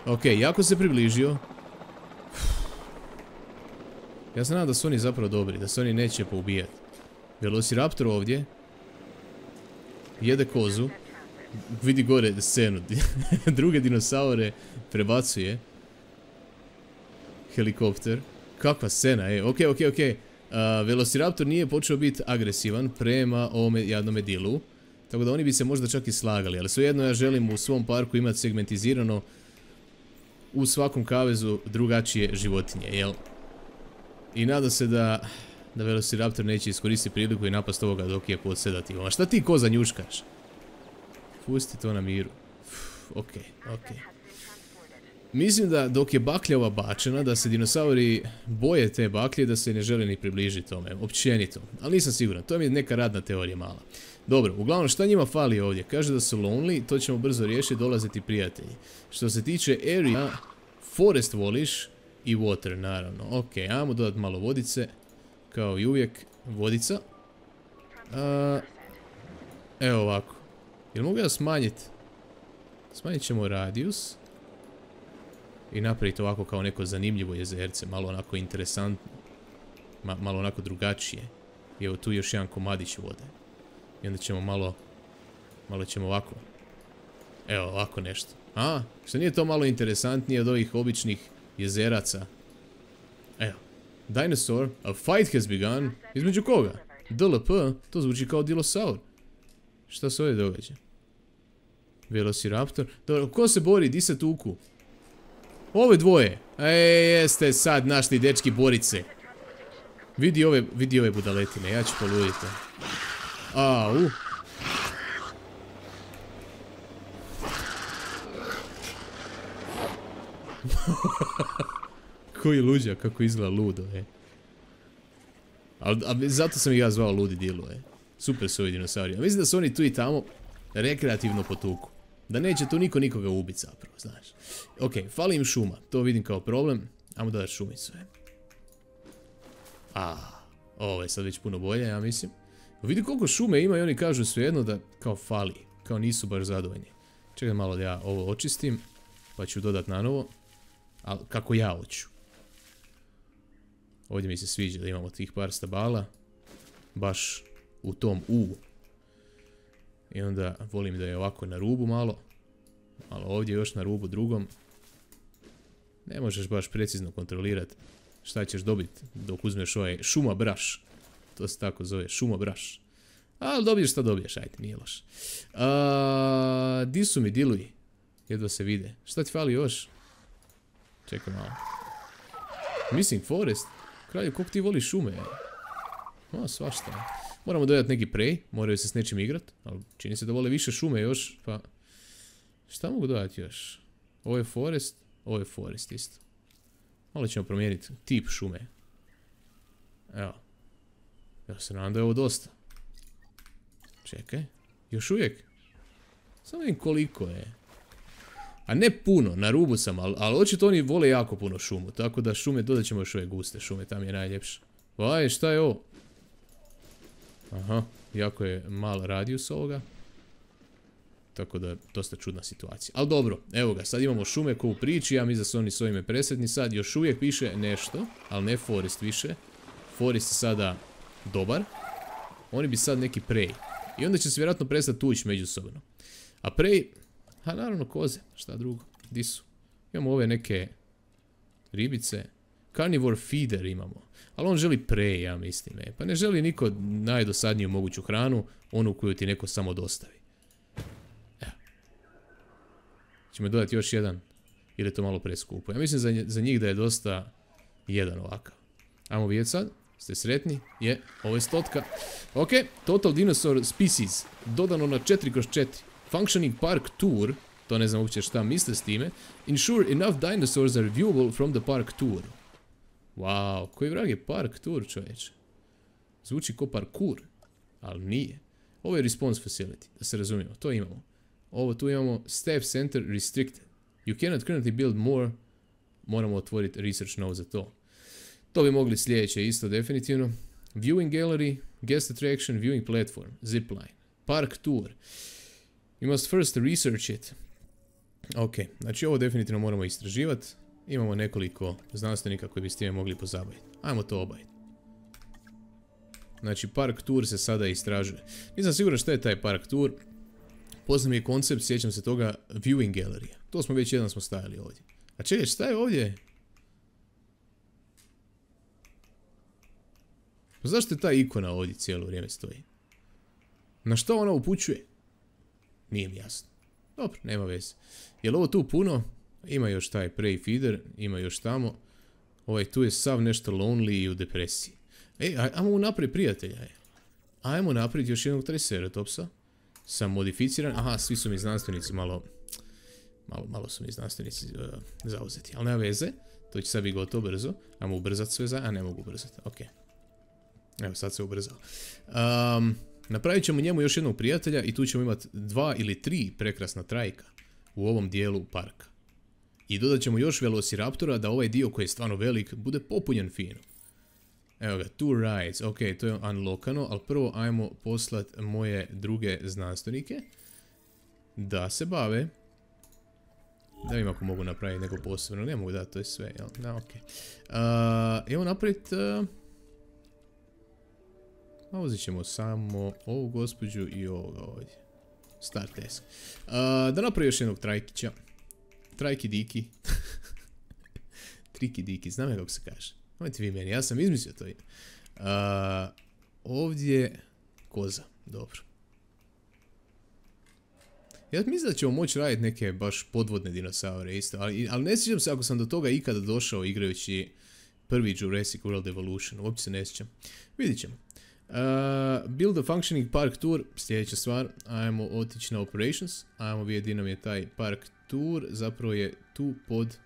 Ok, jako se približio. Ja se nadam da su oni zapravo dobri, da se oni neće poubijati. Velociraptor ovdje. Jede kozu. Vidi gore scenu. Druge dinosaure prebacuje. Helikopter. Kakva scena, e. Ok, ok, ok. Uh, Velociraptor nije počeo biti agresivan prema ovome jadnome dilu. Tako da oni bi se možda čak i slagali. Ali svejedno ja želim u svom parku imati segmentizirano u svakom kavezu drugačije životinje, jel? I nadam se da, da Velociraptor neće iskoristiti priliku i napast ovoga dok je pod sedativom. A šta ti koza njuškaš? Pusti to na miru. Uf, ok, ok. Mislim da dok je baklja ova bačena, da se dinosauri boje te baklje, da se ne žele ni približiti tome, općenito. Ali nisam siguran, to mi je neka radna teorija mala. Dobro, uglavnom šta njima fali ovdje? Kaže da su lonely, to ćemo brzo riješiti, dolaziti prijatelji. Što se tiče area, forest voliš i water, naravno. Ok, ajmo dodati malo vodice, kao i uvijek, vodica. A, evo ovako. Jel mogu ja smanjiti? Smanjit ćemo radius. I napraviti ovako kao neko zanimljivo jezerce, malo onako interesantno. Ma, malo onako drugačije. I evo tu još jedan komadić vode. I onda ćemo malo, malo ćemo ovako. Evo ovako nešto. A, što nije to malo interesantnije od ovih običnih jezeraca? Evo. Dinosaur, a fight has begun. Između koga? D L P, to zvuči kao dilosaur. Šta se ovdje događa? Velociraptor. Dobro, ko se bori? Di se tuku? Ove dvoje. E, jeste sad našli dečki borice. Vidi ove, vidi ove budaletine, ja ću poluditi. Au. Koji luđak, kako izgleda ludo, e. Ali, ali zato sam ih ja zvao ludi dilu, e. Super su ovi dinosauri. A mislim da su oni tu i tamo rekreativno potuku. Da neće tu niko nikoga ubiti zapravo, znaš. Ok, fali im šuma, to vidim kao problem. Ajmo dodati šumicu, e. A, ovo je sad već puno bolje, ja mislim. Vidi koliko šume ima i oni kažu svejedno da kao fali. Kao nisu baš zadovoljni. Čekaj malo da ja ovo očistim. Pa ću dodat na novo. Ali kako ja hoću. Ovdje mi se sviđa da imamo tih par stabala. Baš u tom U. I onda volim da je ovako na rubu malo. Malo ovdje još na rubu drugom. Ne možeš baš precizno kontrolirati šta ćeš dobiti dok uzmeš ovaj šuma braš. To se tako zove, šuma braš. Ali dobiješ šta dobiješ, ajde, nije loš. A, di su mi diluji? Jedva se vide. Šta ti fali još? Čekaj malo. Missing forest? Kralju, koliko ti voliš šume? O, svašta. Moramo dodati neki prey, moraju se s nečim igrat. Ali čini se da vole više šume još, pa... Šta mogu dodati još? Ovo je forest, ovo je forest isto. Malo ćemo promijeniti tip šume. Evo. Ja se nadam da je ovo dosta. Čekaj. Još uvijek. Samo vidim koliko je. A ne puno, na rubu sam, ali, ali očito oni vole jako puno šumu. Tako da šume, dodat ćemo još ove guste šume, tam je najljepše. Vaj, šta je ovo? Aha, jako je mal radijus ovoga. Tako da, dosta čudna situacija. Ali dobro, evo ga, sad imamo šume ko u priči, ja mislim da su oni s ovime presretni sad. Još uvijek piše nešto, ali ne forest više. Forest je sada dobar. Oni bi sad neki prey. I onda će se vjerojatno prestati tući međusobno. A prey, ha naravno koze, šta drugo, di su? Imamo ove neke ribice. Carnivore feeder imamo. Ali on želi prey, ja mislim. E. Pa ne želi niko najdosadniju moguću hranu, onu koju ti neko samo dostavi. Evo. Ćemo dodati još jedan. Ili je to malo preskupo. Ja mislim za, za njih da je dosta jedan ovakav. Ajmo vidjeti sad. Ste sretni? Je, ovo je stotka. Ok, Total Dinosaur Species. Dodano na četiri kroz četiri. Functioning Park Tour. To ne znam uopće šta misle s time. Ensure enough dinosaurs are viewable from the park tour. Wow, koji vrag je park tour, čovječe? Zvuči ko parkour, ali nije. Ovo je response facility, da se razumijemo, to imamo. Ovo tu imamo staff center restricted. You cannot currently build more. Moramo otvoriti research node za to. To bi mogli sljedeće isto definitivno. Viewing gallery, guest attraction, viewing platform, zipline, park tour. You must first research it. Ok, znači ovo definitivno moramo istraživati. Imamo nekoliko znanstvenika koji bi s time mogli pozabaviti. Ajmo to obaviti. Znači, park tour se sada istražuje. Nisam siguran šta je taj park tour. Poznam je koncept, sjećam se toga, viewing gallery. To smo već jedan smo stajali ovdje. A čekaj, šta je ovdje? Pa zašto je ta ikona ovdje cijelo vrijeme stoji? Na što ona upućuje? Nije mi jasno. Dobro, nema veze. Je li ovo tu puno? Ima još taj prey feeder, ima još tamo. Ovaj tu je sav nešto lonely i u depresiji. Ej, aj, ajmo napraviti prijatelja. Aj. Ajmo napraviti još jednog triceratopsa. Sam modificiran. Aha, svi su mi znanstvenici malo... Malo, malo su mi znanstvenici uh, zauzeti. Ali nema veze. To će sad biti gotovo brzo. Ajmo ubrzati sve za... A ne mogu ubrzati. Ok. Evo, sad se ubrzao. Um, napravit ćemo njemu još jednog prijatelja i tu ćemo imati dva ili tri prekrasna trajka u ovom dijelu parka. I dodat ćemo još velociraptora da ovaj dio koji je stvarno velik bude popunjen fino. Evo ga, two rides, ok, to je unlockano, ali prvo ajmo poslat moje druge znanstvenike da se bave. Da vidim ako mogu napraviti neko posebno, ne mogu da, to je sve, jel? Da, ok. Uh, evo napraviti... Uh, uzet ćemo samo ovu gospođu i ovoga ovdje. Start task. Uh, da napravi još jednog trajkića. Trajki diki. Triki diki, znam ja kako se kaže. Nemojte vi meni, ja sam izmislio to. Uh, ovdje koza, dobro. Ja mislim da ćemo moći raditi neke baš podvodne dinosaure isto, ali, ali ne sjećam se ako sam do toga ikada došao igrajući prvi Jurassic World Evolution, uopće se ne sjećam. Vidit ćemo. Uh, build a functioning park tour, sljedeća stvar, ajmo otići na operations, ajmo vidjeti gdje nam je taj park tour, zapravo je tu pod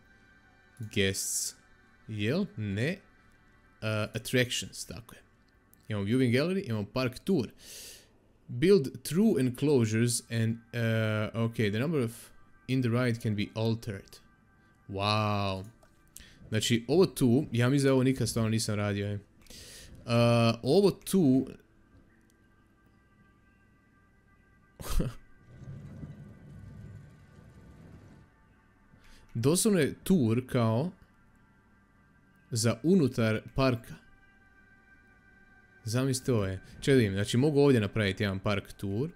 guests, jel? Ne, uh, attractions, tako je. Imamo viewing gallery, imamo park tour. Build true enclosures and, uh, ok, the number of in the ride can be altered. Wow. Znači, ovo tu, ja mislim da ovo nikad stvarno nisam radio, je. Uh, ovo tu... doslovno je tour kao za unutar parka. Zamislite ovo je. Čekaj da vidim, znači mogu ovdje napraviti jedan park tour.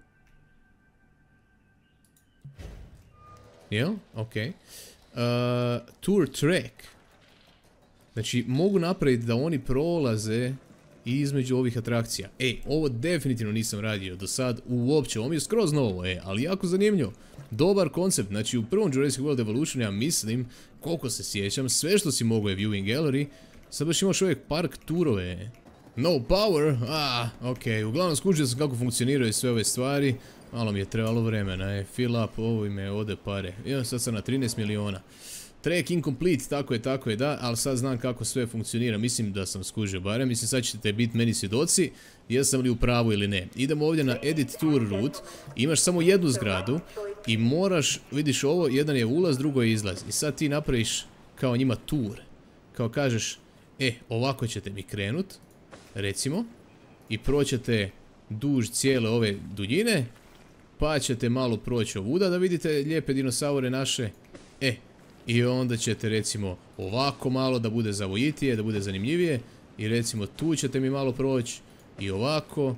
Jel? Ok. Uh, tour track. Znači mogu napraviti da oni prolaze između ovih atrakcija. Ej, ovo definitivno nisam radio do sad uopće. Ovo mi je skroz novo, e, ali jako zanimljivo. Dobar koncept, znači u prvom Jurassic World Evolution ja mislim, koliko se sjećam, sve što si mogo je viewing gallery, sad baš imaš uvijek park turove. No power, ah, ok, uglavnom skužio sam kako funkcioniraju sve ove stvari, malo mi je trebalo vremena, e, fill up, ovo ime ode pare. Ja sad sam na trinaest miliona. Track incomplete, tako je, tako je, da, ali sad znam kako sve funkcionira, mislim da sam skužio barem, mislim sad ćete biti meni svjedoci, jesam li u pravu ili ne. Idemo ovdje na edit tour route, imaš samo jednu zgradu i moraš, vidiš ovo, jedan je ulaz, drugo je izlaz. I sad ti napraviš kao njima tour, kao kažeš, e, ovako ćete mi krenut, recimo, i proćete duž cijele ove duljine, pa ćete malo proći ovuda da vidite lijepe dinosaure naše, e, i onda ćete recimo ovako malo da bude zavojitije, da bude zanimljivije. I recimo tu ćete mi malo proći. I ovako.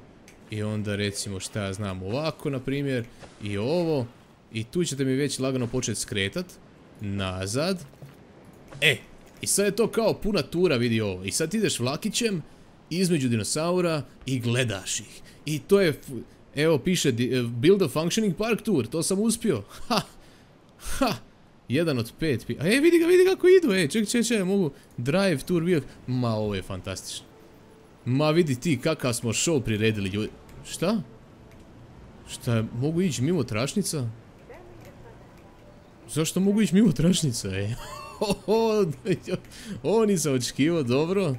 I onda recimo šta ja znam ovako na primjer. I ovo. I tu ćete mi već lagano početi skretat. Nazad. E. I sad je to kao puna tura, vidi ovo. I sad ideš vlakićem između dinosaura i gledaš ih. I to je... Evo piše Build a functioning park tour. To sam uspio. Ha. Ha. Jedan od pet. A e, vidi ga, vidi kako idu, e, ček, ček, ček, mogu drive tour wheel. Ma, ovo je fantastično. Ma, vidi ti kakav smo show priredili, ljudi. Šta? Šta, mogu ići mimo tračnica? Zašto mogu ići mimo tračnica, e? Ovo nisam očekivao, dobro.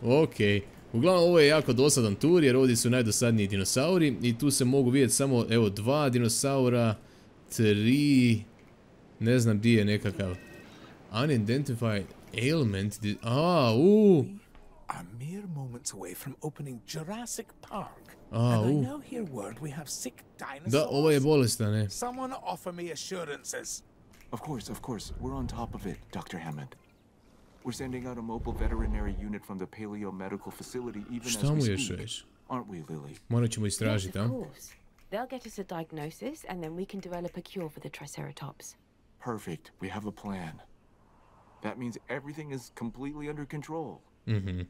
Okej. Uglavnom, ovo je jako dosadan tur, jer ovdje su najdosadniji dinosauri. I tu se mogu vidjeti samo, evo, dva dinosaura, tri... Ne znam di je nekakav unidentified ailment. A, u. Are mere moments away from opening Jurassic Park. A, and I u. now hear word we have sick dinosaurs. Da, ovo je bolestan, ne. Someone offer me assurances. Of course, of course. We're on top of it, Doctor Hammond. We're sending out a mobile veterinary unit from the Paleo Medical Facility even as Šta we mu još speak. reći? Aren't we, Lily? Morat ćemo Yes, istražiti, of a? course. They'll get us a diagnosis, and then we can develop a cure for the Triceratops. Perfect. We have a plan. That means everything is completely under control. Mhm.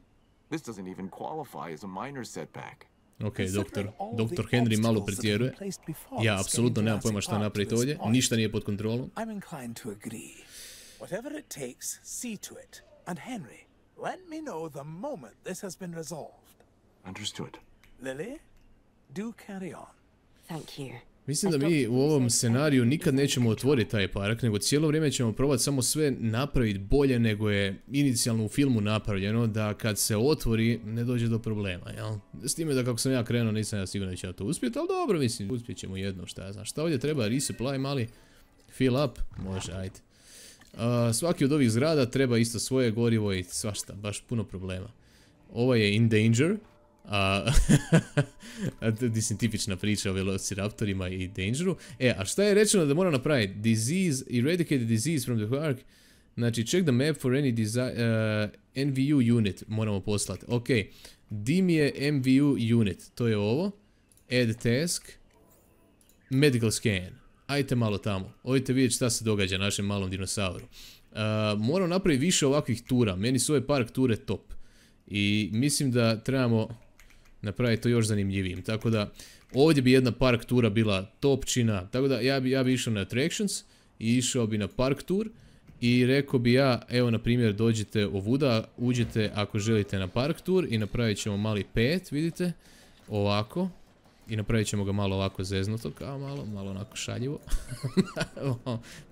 This doesn't even qualify as a minor setback. Ok, doktor, Considering all doktor the Henry malo obstacles that have been pretjeruje. placed before Ja, us apsolutno getting nemam pojma Jurassic šta Park to napraviti this ovdje. point, Ništa nije pod kontrolom. I'm inclined to agree. Whatever it takes, see to it. And Henry, let me know the moment this has been resolved. Understood. Lily, do carry on. Thank you. Mislim da mi u ovom scenariju nikad nećemo otvoriti taj park, nego cijelo vrijeme ćemo probati samo sve napraviti bolje nego je inicijalno u filmu napravljeno, da kad se otvori ne dođe do problema, jel? S time da kako sam ja krenuo nisam ja siguran da će ja to uspjeti, ali dobro, mislim, uspjet ćemo jedno, šta ja znam. Šta ovdje treba? Resupply mali? Fill up? Može, ajde. Uh, svaki od ovih zgrada treba isto svoje gorivo i svašta, baš puno problema. Ovo je in danger. A, mislim, tipična priča o velociraptorima i dangeru. E, a šta je rečeno da moram napraviti? Disease, eradicate the disease from the park. Znači, check the map for any uh, N V U unit moramo poslati. Ok, dim je M V U unit, to je ovo. Add task. Medical scan. Ajte malo tamo. Odite vidjeti šta se događa našem malom dinosauru. Uh, moram napraviti više ovakvih tura. Meni su ove park ture top. I mislim da trebamo napraviti to još zanimljivijim. Tako da ovdje bi jedna park tura bila topčina. Tako da ja bi, ja bi išao na attractions i išao bi na park tour. I rekao bi ja, evo na primjer dođite ovuda, uđite ako želite na park tour i napravit ćemo mali pet, vidite, ovako. I napravit ćemo ga malo ovako zeznuto, kao malo, malo onako šaljivo.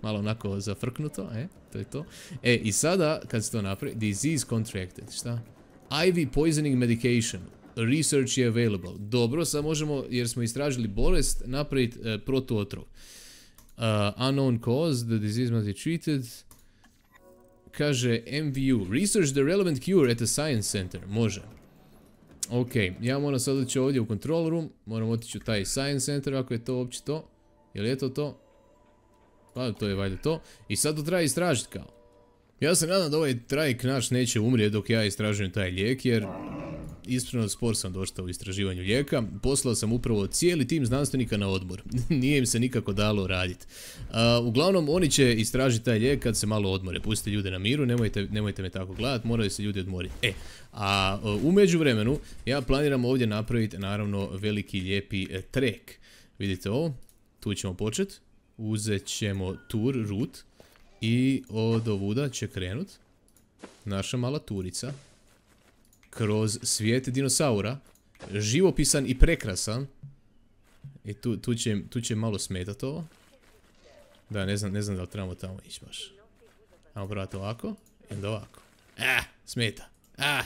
Malo onako zafrknuto, e, to je to. E, i sada, kad se to napravi, disease contracted, šta? I V poisoning medication, research je available. Dobro, sad možemo, jer smo istražili bolest, napraviti uh, protuotrov. Uh, unknown cause, the disease must be treated. Kaže M V U, research the relevant cure at the science center. Može. Ok, ja moram sad otići ovdje u control room, moram otići u taj science center ako je to uopće to. Je li je to to? Pa to je valjda to. I sad to treba istražiti kao. Ja se nadam da ovaj trajk naš neće umrijeti dok ja istražujem taj lijek, jer ispravno spor sam došao u istraživanju lijeka. Poslao sam upravo cijeli tim znanstvenika na odmor. Nije im se nikako dalo raditi. Uh, uglavnom, oni će istražiti taj lijek kad se malo odmore. Pustite ljude na miru, nemojte, nemojte me tako gledati, moraju se ljudi odmoriti. E, a uh, u međuvremenu ja planiram ovdje napraviti naravno veliki lijepi e, trek. Vidite ovo, tu ćemo početi. Uzet ćemo tour route. I od ovuda će krenut naša mala turica kroz svijet dinosaura, živopisan i prekrasan. I tu, tu, će, tu će malo smetati ovo. Da, ne znam, ne znam da li trebamo tamo ići baš. Ajmo probati ovako. I onda ovako. Ah, smeta. Ah.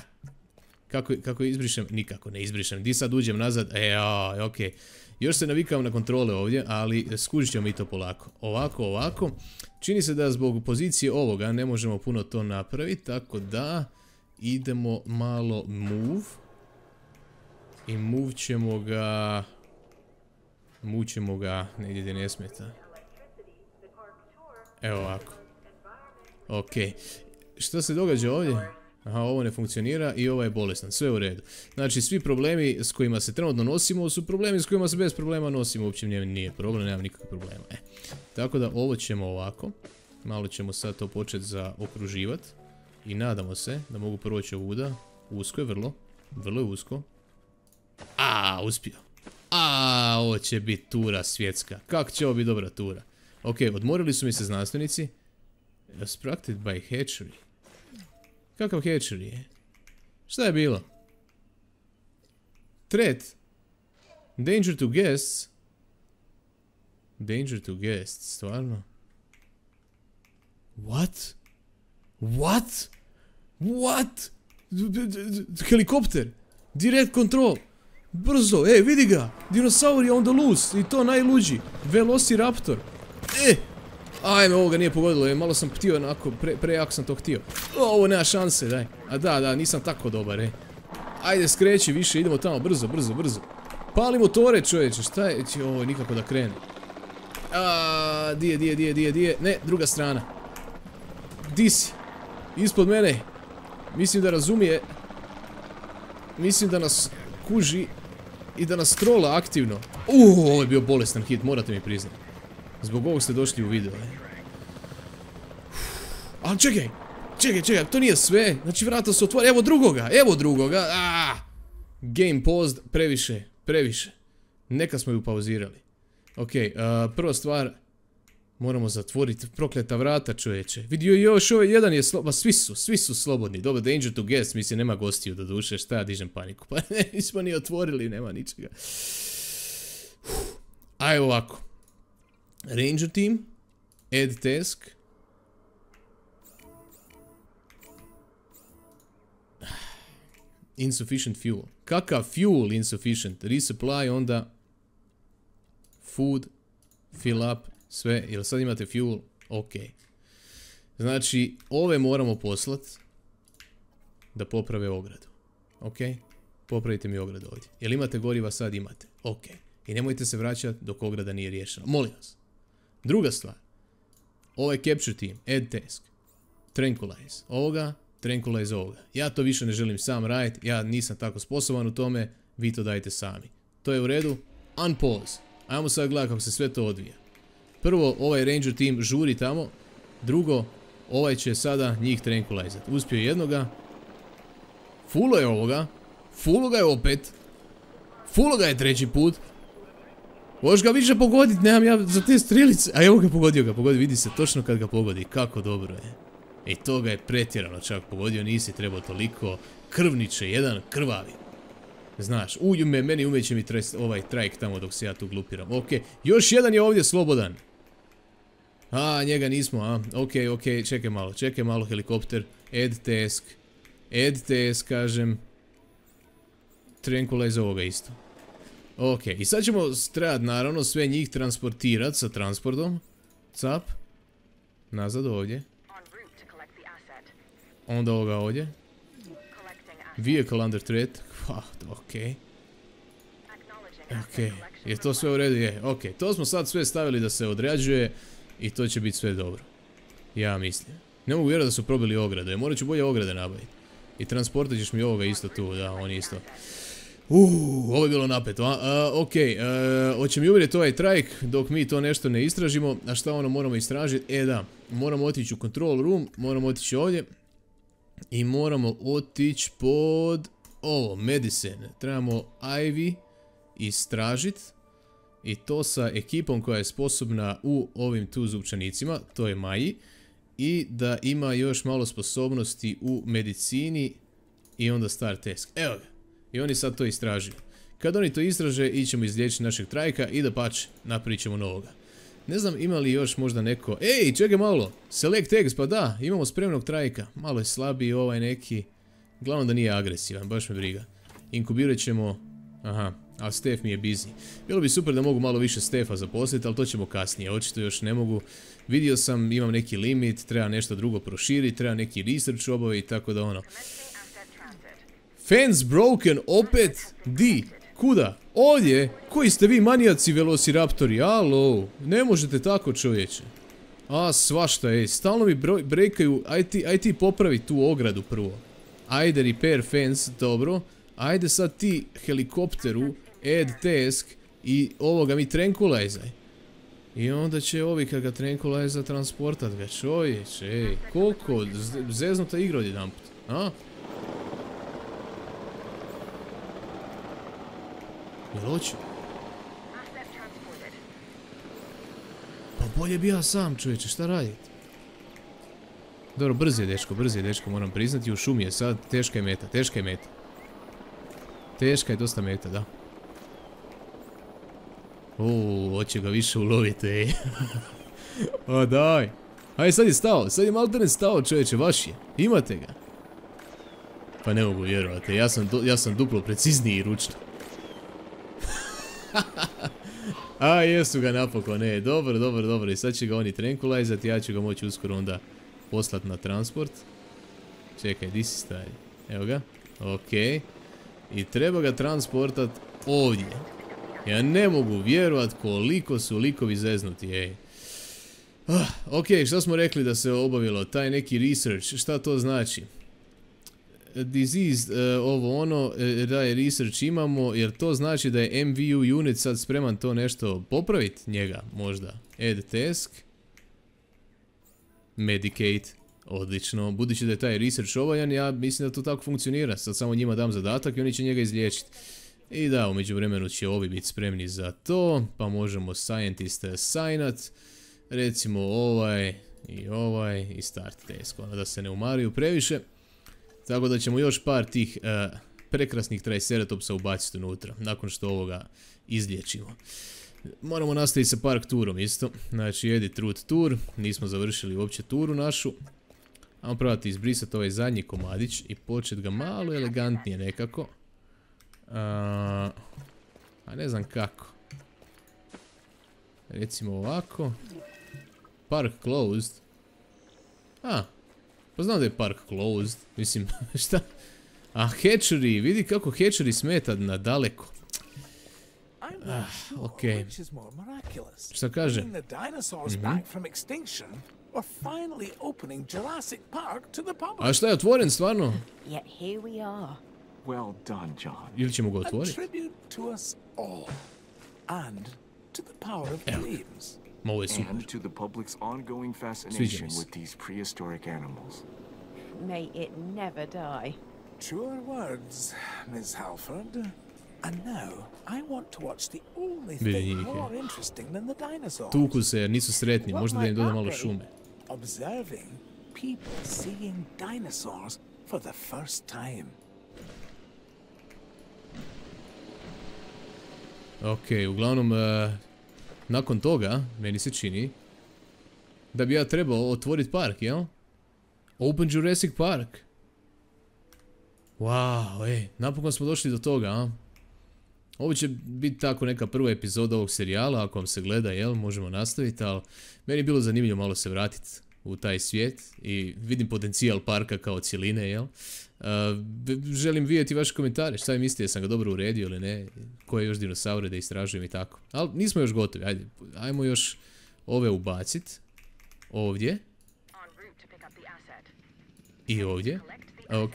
Kako, kako izbrišem? Nikako ne izbrišem. Di sad uđem nazad? E, a, ok. Još se navikam na kontrole ovdje, ali skužit ćemo mi to polako. Ovako, ovako. Čini se da zbog pozicije ovoga ne možemo puno to napraviti, tako da idemo malo move. I move ćemo ga... Move ćemo ga negdje gdje ne smeta. Evo ovako. Ok. Što se događa ovdje? Aha, ovo ne funkcionira i ovo je bolestan. Sve u redu. Znači, svi problemi s kojima se trenutno nosimo su problemi s kojima se bez problema nosimo. Uopće nije problem, nemam nikakvih problema. E. Tako da ovo ćemo ovako. Malo ćemo sad to početi zaokruživati. I nadamo se da mogu proći ovuda. Usko je vrlo. Vrlo je usko. A, uspio. A, ovo će biti tura svjetska. Kako će ovo biti dobra tura? Ok, odmorili su mi se znanstvenici. Obstructed by hatchery. Kakav hatchery je? Šta je bilo? Threat. Danger to guests. Danger to guests, stvarno? What? What? What? Helikopter. Direct control. Brzo, e, vidi ga. Dinosaur je on the loose. I to najluđi. Velociraptor. E! Ajme, ovoga nije pogodilo, je, malo sam htio onako, pre, prejako sam to htio. O, ovo nema šanse, daj. A da, da, nisam tako dobar, e. Ajde, skreći više, idemo tamo, brzo, brzo, brzo. Pali motore, čovječe, šta je? Ovo, nikako da krene. A, di je, di je, di je, di je, di je, ne, druga strana. Di si? Ispod mene. Mislim da razumije. Mislim da nas kuži i da nas trola aktivno. Uuu, ovo je bio bolestan hit, morate mi priznati. Zbog ovog ste došli u video. Ali čekaj, čekaj, čekaj, to nije sve. Znači vrata su otvorene, evo drugoga, evo drugoga. Aaaa. Game paused, previše, previše. Neka smo ju pauzirali. Ok, uh, prva stvar. Moramo zatvoriti prokleta vrata, čovječe. Vidio još ovaj jedan je slobodan, svi su, svi su slobodni. Dobro, danger to guest, mislim nema gostiju do duše, šta ja dižem paniku. Pa ne, nismo ni otvorili, nema ničega. Aj ovako. Ranger team, add task. Insufficient fuel. Kakav fuel insufficient? Resupply, onda food, fill up, sve. Jel sad imate fuel? Ok. Znači, ove moramo poslat da poprave ogradu. Ok? Popravite mi ogradu ovdje. Jel imate goriva? Sad imate. Ok. I nemojte se vraćati dok ograda nije riješena. Molim vas. Druga stvar. Ovaj capture team, add task. Tranquilize. Ovoga, tranquilize ovoga. Ja to više ne želim sam raditi. Ja nisam tako sposoban u tome. Vi to dajte sami. To je u redu. Unpause. Ajmo sad gledati kako se sve to odvija. Prvo, ovaj ranger team žuri tamo. Drugo, ovaj će sada njih tranquilizati. Uspio jednoga. Fulo je ovoga. Fulo ga je opet. Fulo ga je treći put. Možeš ga više pogoditi, nemam ja za te strelice. A evo ga, pogodio ga, pogodio, vidi se točno kad ga pogodi. Kako dobro je. I to ga je pretjerano čak pogodio, nisi trebao toliko. Krvniče, jedan krvavi. Znaš, uju me, meni umeće mi tres, ovaj trajk tamo dok se ja tu glupiram. Ok, još jedan je ovdje slobodan. A, njega nismo, a. Ok, ok, čekaj malo, čekaj malo helikopter. Add task. Add task, kažem. Tranquilize ovoga isto. Ok, i sad ćemo trebati naravno sve njih transportirati sa transportom. Cap. Nazad ovdje. Onda ovoga ovdje. Vehicle under threat. Ah, ok. Ok, je to sve u redu? Je, ok. To smo sad sve stavili da se određuje i to će biti sve dobro. Ja mislim. Ne mogu vjerovati da su probili ograde. Morat ću bolje ograde nabaviti. I transportat ćeš mi ovoga isto tu, da, on isto. Uuu, ovo je bilo napeto, a? Uh, ok, uh, hoće mi uvjeriti ovaj trajk dok mi to nešto ne istražimo. A šta ono moramo istražiti? E da, moramo otići u control room, moramo otići ovdje. I moramo otići pod ovo, medicine. Trebamo Ivy istražiti. I to sa ekipom koja je sposobna u ovim tu zupčanicima, to je Maji. I da ima još malo sposobnosti u medicini. I onda start task. Evo ga. I oni sad to istražuju. Kad oni to istraže, ićemo izliječiti našeg trajka i da pače, napravit ćemo novoga. Ne znam ima li još možda neko... Ej, čekaj malo! Select eggs, pa da, imamo spremnog trajka. Malo je slabiji ovaj neki. Glavno da nije agresivan, baš me briga. Inkubirat ćemo... Aha, a Stef mi je busy. Bilo bi super da mogu malo više Stefa zaposliti, ali to ćemo kasnije. Očito još ne mogu. Vidio sam, imam neki limit, treba nešto drugo proširiti, treba neki research obaviti, tako da ono... Fence broken, opet? Di? Kuda? Ovdje? Koji ste vi manijaci velociraptori? Alo, ne možete tako, čovječe. A, svašta je, stalno mi breakaju, aj ti, aj ti popravi tu ogradu prvo. Ajde repair fence, dobro. Ajde sad ti helikopteru, add task i ovoga mi tranquilizaj. I onda će ovi kad ga tranquiliza transportat ga, čovječe, ej, koliko zeznuta igra od jedan put, a? Jel hoću? Pa bolje bi ja sam, čovječe, šta radite? Dobro, brzi je dečko, brzi je dečko, moram priznati, u šumi je sad, teška je meta, teška je meta. Teška je dosta meta, da. Uuu, hoće ga više uloviti, ej. O, daj. Ajde, sad je stao, sad je maltene stao, čovječe, vaš je. Imate ga. Pa ne mogu vjerovati, ja sam, ja sam duplo precizniji i ručno. A, jesu ga napokon, ne, dobro, dobro, dobro, i sad će ga oni tranquilizati, ja ću ga moći uskoro onda poslati na transport. Čekaj, di si stari? Evo ga, okej. I treba ga transportat ovdje. Ja ne mogu vjerovat koliko su likovi zeznuti, ej. Ah, ok, šta smo rekli da se obavilo? Taj neki research, šta to znači? Diseased, uh, ovo ono, uh, da je research imamo, jer to znači da je M V U unit sad spreman to nešto popraviti njega, možda. Add task. Medicate. Odlično, budući da je taj research ovaljan, ja mislim da to tako funkcionira. Sad samo njima dam zadatak i oni će njega izliječiti. I da, u međuvremenu će ovi biti spremni za to, pa možemo scientist assignat. Recimo ovaj i ovaj i start task, ono da se ne umaraju previše. Tako da ćemo još par tih uh, prekrasnih Triceratopsa ubaciti unutra, nakon što ovoga izliječimo. Moramo nastaviti sa park turom isto, znači edit route tour, nismo završili uopće turu našu. Ajmo probati izbrisati ovaj zadnji komadić i početi ga malo elegantnije nekako. Uh, a ne znam kako. Recimo ovako. Park closed. A, pa znam da je park closed, mislim, šta? A hatchery, vidi kako hatchery smeta na daleko. Ah, okej. Šta kaže? Mhm. A šta je otvoren stvarno? Well done, John. Ili ćemo ga otvoriti? Evo. Ovo je super. And to the public's ongoing fascination with these prehistoric animals. May it never die. Truer words, Miss Halford. And now, I want to watch the only thing more interesting than the dinosaurs. Tuku se jer nisu sretni, možda da im doda malo šume. Observing people seeing dinosaurs for the first time. Ok, uglavnom, uh, nakon toga, meni se čini da bi ja trebao otvoriti park, jel? Open Jurassic Park. Wow, ej, napokon smo došli do toga, a? Ovo će biti tako neka prva epizoda ovog serijala, ako vam se gleda, jel, možemo nastaviti, ali meni je bilo zanimljivo malo se vratiti u taj svijet i vidim potencijal parka kao cijeline, jel? Uh, želim vidjeti vaše komentare, šta vi mislite, jesam ga dobro uredio ili ne, koje još dinosaure da istražujem i tako. Ali nismo još gotovi, ajde, ajmo još ove ubaciti, ovdje. I ovdje, ok.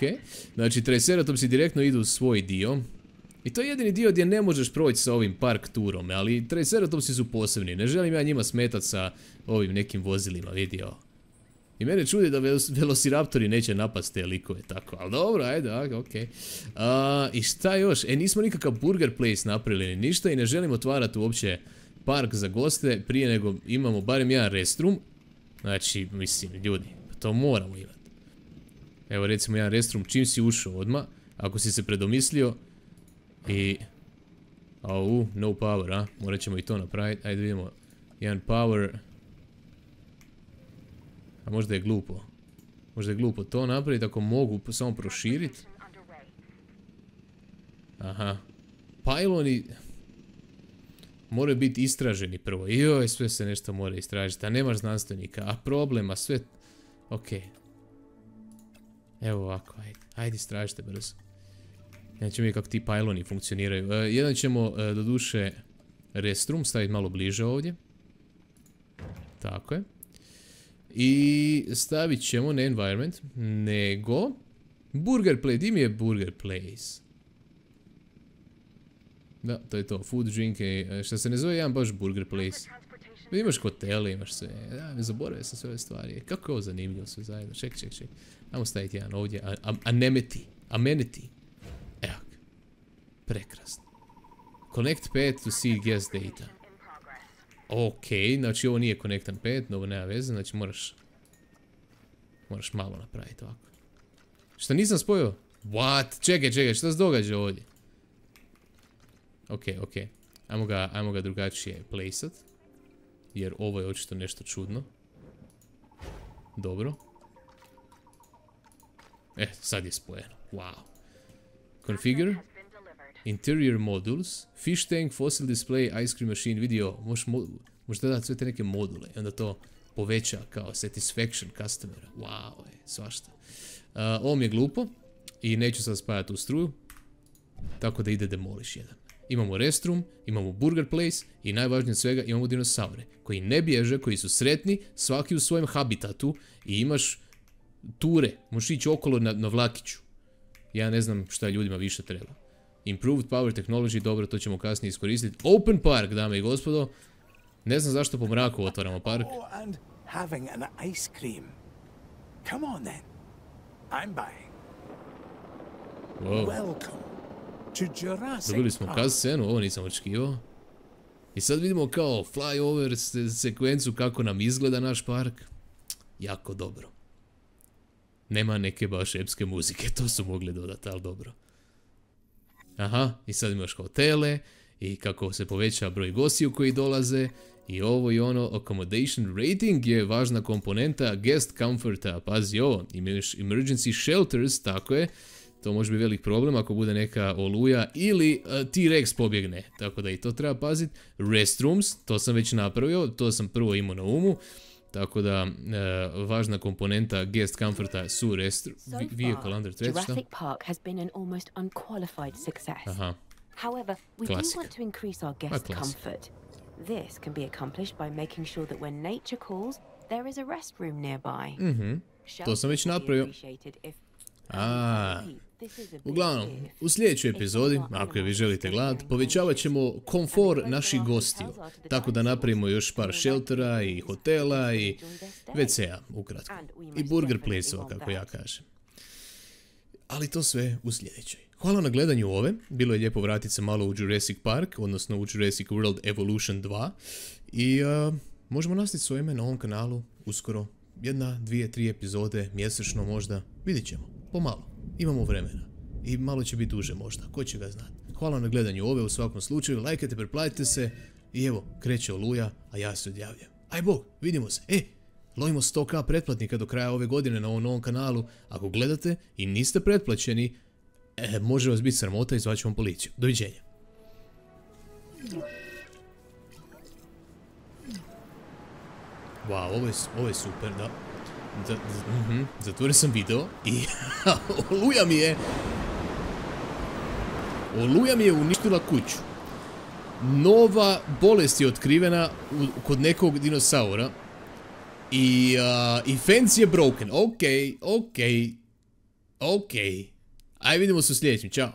Znači, Triceratopsi direktno idu u svoj dio. I to je jedini dio gdje ne možeš proći sa ovim park turom, ali Triceratopsi su posebni, ne želim ja njima smetat sa ovim nekim vozilima, vidio. I mene čudi da velociraptori neće napast te likove, tako, ali dobro, ajde, ok. A, I šta još? E, nismo nikakav burger place napravili ni ništa i ne želim otvarati uopće park za goste prije nego imamo barem jedan restroom. Znači, mislim, ljudi, to moramo imati. Evo recimo jedan restroom čim si ušao odmah, ako si se predomislio. I... Au, no power, a? Morat ćemo i to napraviti, ajde vidimo. jedan power. A možda je glupo. Možda je glupo to napraviti ako mogu samo proširiti. Aha. Pyloni moraju biti istraženi prvo. Joj, sve se nešto mora istražiti. A nemaš znanstvenika. A problema, sve... Ok. Evo ovako, ajde. Ajde, istražite brzo. Ja ćemo vidjeti kako ti pyloni funkcioniraju. E, jedan ćemo, e, do duše, restroom staviti malo bliže ovdje. Tako je. I stavit ćemo, ne environment, nego... Burger place, di mi je burger place? Da, to je to, food, drink, e, šta se ne zove jedan baš burger place. Imaš hotele, imaš sve, da, ne zaboravio sam sve ove stvari. Kako je ovo zanimljivo sve zajedno, ček, ček, ček. Ajmo staviti jedan ovdje, amenity, amenity. Evo ga, prekrasno. Connect pad to see guest data. Ok, znači ovo nije connectan pad, ovo nema veze, znači moraš... Moraš malo napraviti ovako. Šta nisam spojio? What? Čekaj, čekaj, šta se događa ovdje? Ok, ok. Ajmo ga, ajmo ga drugačije placeat. Jer ovo je očito nešto čudno. Dobro. E, sad je spojeno. Wow. Configure. Interior modules. Fish tank, fossil display, ice cream machine, video. Možeš mo možda dati sve te neke module. I onda to poveća kao satisfaction customera. Wow, je, svašta. Uh, ovo mi je glupo. I neću sad spajati u struju. Tako da ide demolish jedan. Imamo restroom, imamo burger place i najvažnije od svega imamo dinosaure koji ne bježe, koji su sretni, svaki u svojem habitatu i imaš ture, možeš ići okolo na, na vlakiću. Ja ne znam šta ljudima više treba. Improved power technology, dobro, to ćemo kasnije iskoristiti. Open park, dame i gospodo. Ne znam zašto po mraku otvaramo park. Oh, and having an ice cream. Come on then. I'm buying. Wow. Welcome. Dobili smo cutscenu, ovo nisam očekivao. I sad vidimo kao flyover se sekvencu kako nam izgleda naš park. Jako dobro. Nema neke baš epske muzike, to su mogli dodati, ali dobro. Aha, i sad imaš hotele i kako se poveća broj gostiju koji dolaze. I ovo i ono, accommodation rating je važna komponenta guest comforta. Pazi ovo, imaš emergency shelters, tako je. To može biti velik problem ako bude neka oluja ili uh, T-Rex pobjegne. Tako da i to treba paziti. Restrooms, to sam već napravio, to sam prvo imao na umu. Tako da uh, važna komponenta guest comforta su restrooms. So far, Jurassic Park has been an almost unqualified success. Aha. However, we Classic. do want to increase our guest comfort. This can be accomplished by making sure that when nature calls, there is a restroom nearby. Mhm. To sam već napravio. A, uglavnom, u sljedećoj epizodi, ako je vi želite gledati, povećavat ćemo komfor naših gostiju. Tako da napravimo još par sheltera i hotela i ve ce-a, ukratko. I burger place-ova, kako ja kažem. Ali to sve u sljedećoj. Hvala na gledanju ove. Bilo je lijepo vratiti se malo u Jurassic Park, odnosno u Jurassic World Evolution dva. I uh, možemo nastaviti s ovime na ovom kanalu uskoro. Jedna, dvije, tri epizode, mjesečno možda. Vidit ćemo. Pomalo. Imamo vremena. I malo će biti duže možda. Ko će ga znati. Hvala na gledanju ove u svakom slučaju. Lajkajte, preplatite se. I evo, kreće Oluja, a ja se odjavljam. Aj bog, vidimo se. E, lovimo sto ka pretplatnika do kraja ove godine na ovom novom kanalu. Ako gledate i niste pretplaćeni, e, može vas biti sramota i zvaću vam policiju. Doviđenja. Wow, ovo je, ovo je super, da. Da, uh -huh. Zatvorio sam video i Oluja mi je Oluja mi je uništila kuću. Nova bolest je otkrivena u, kod nekog dinosaura i, uh, i fence je broken. Ok, ok, ok. Aj vidimo se u sljedećem, čao.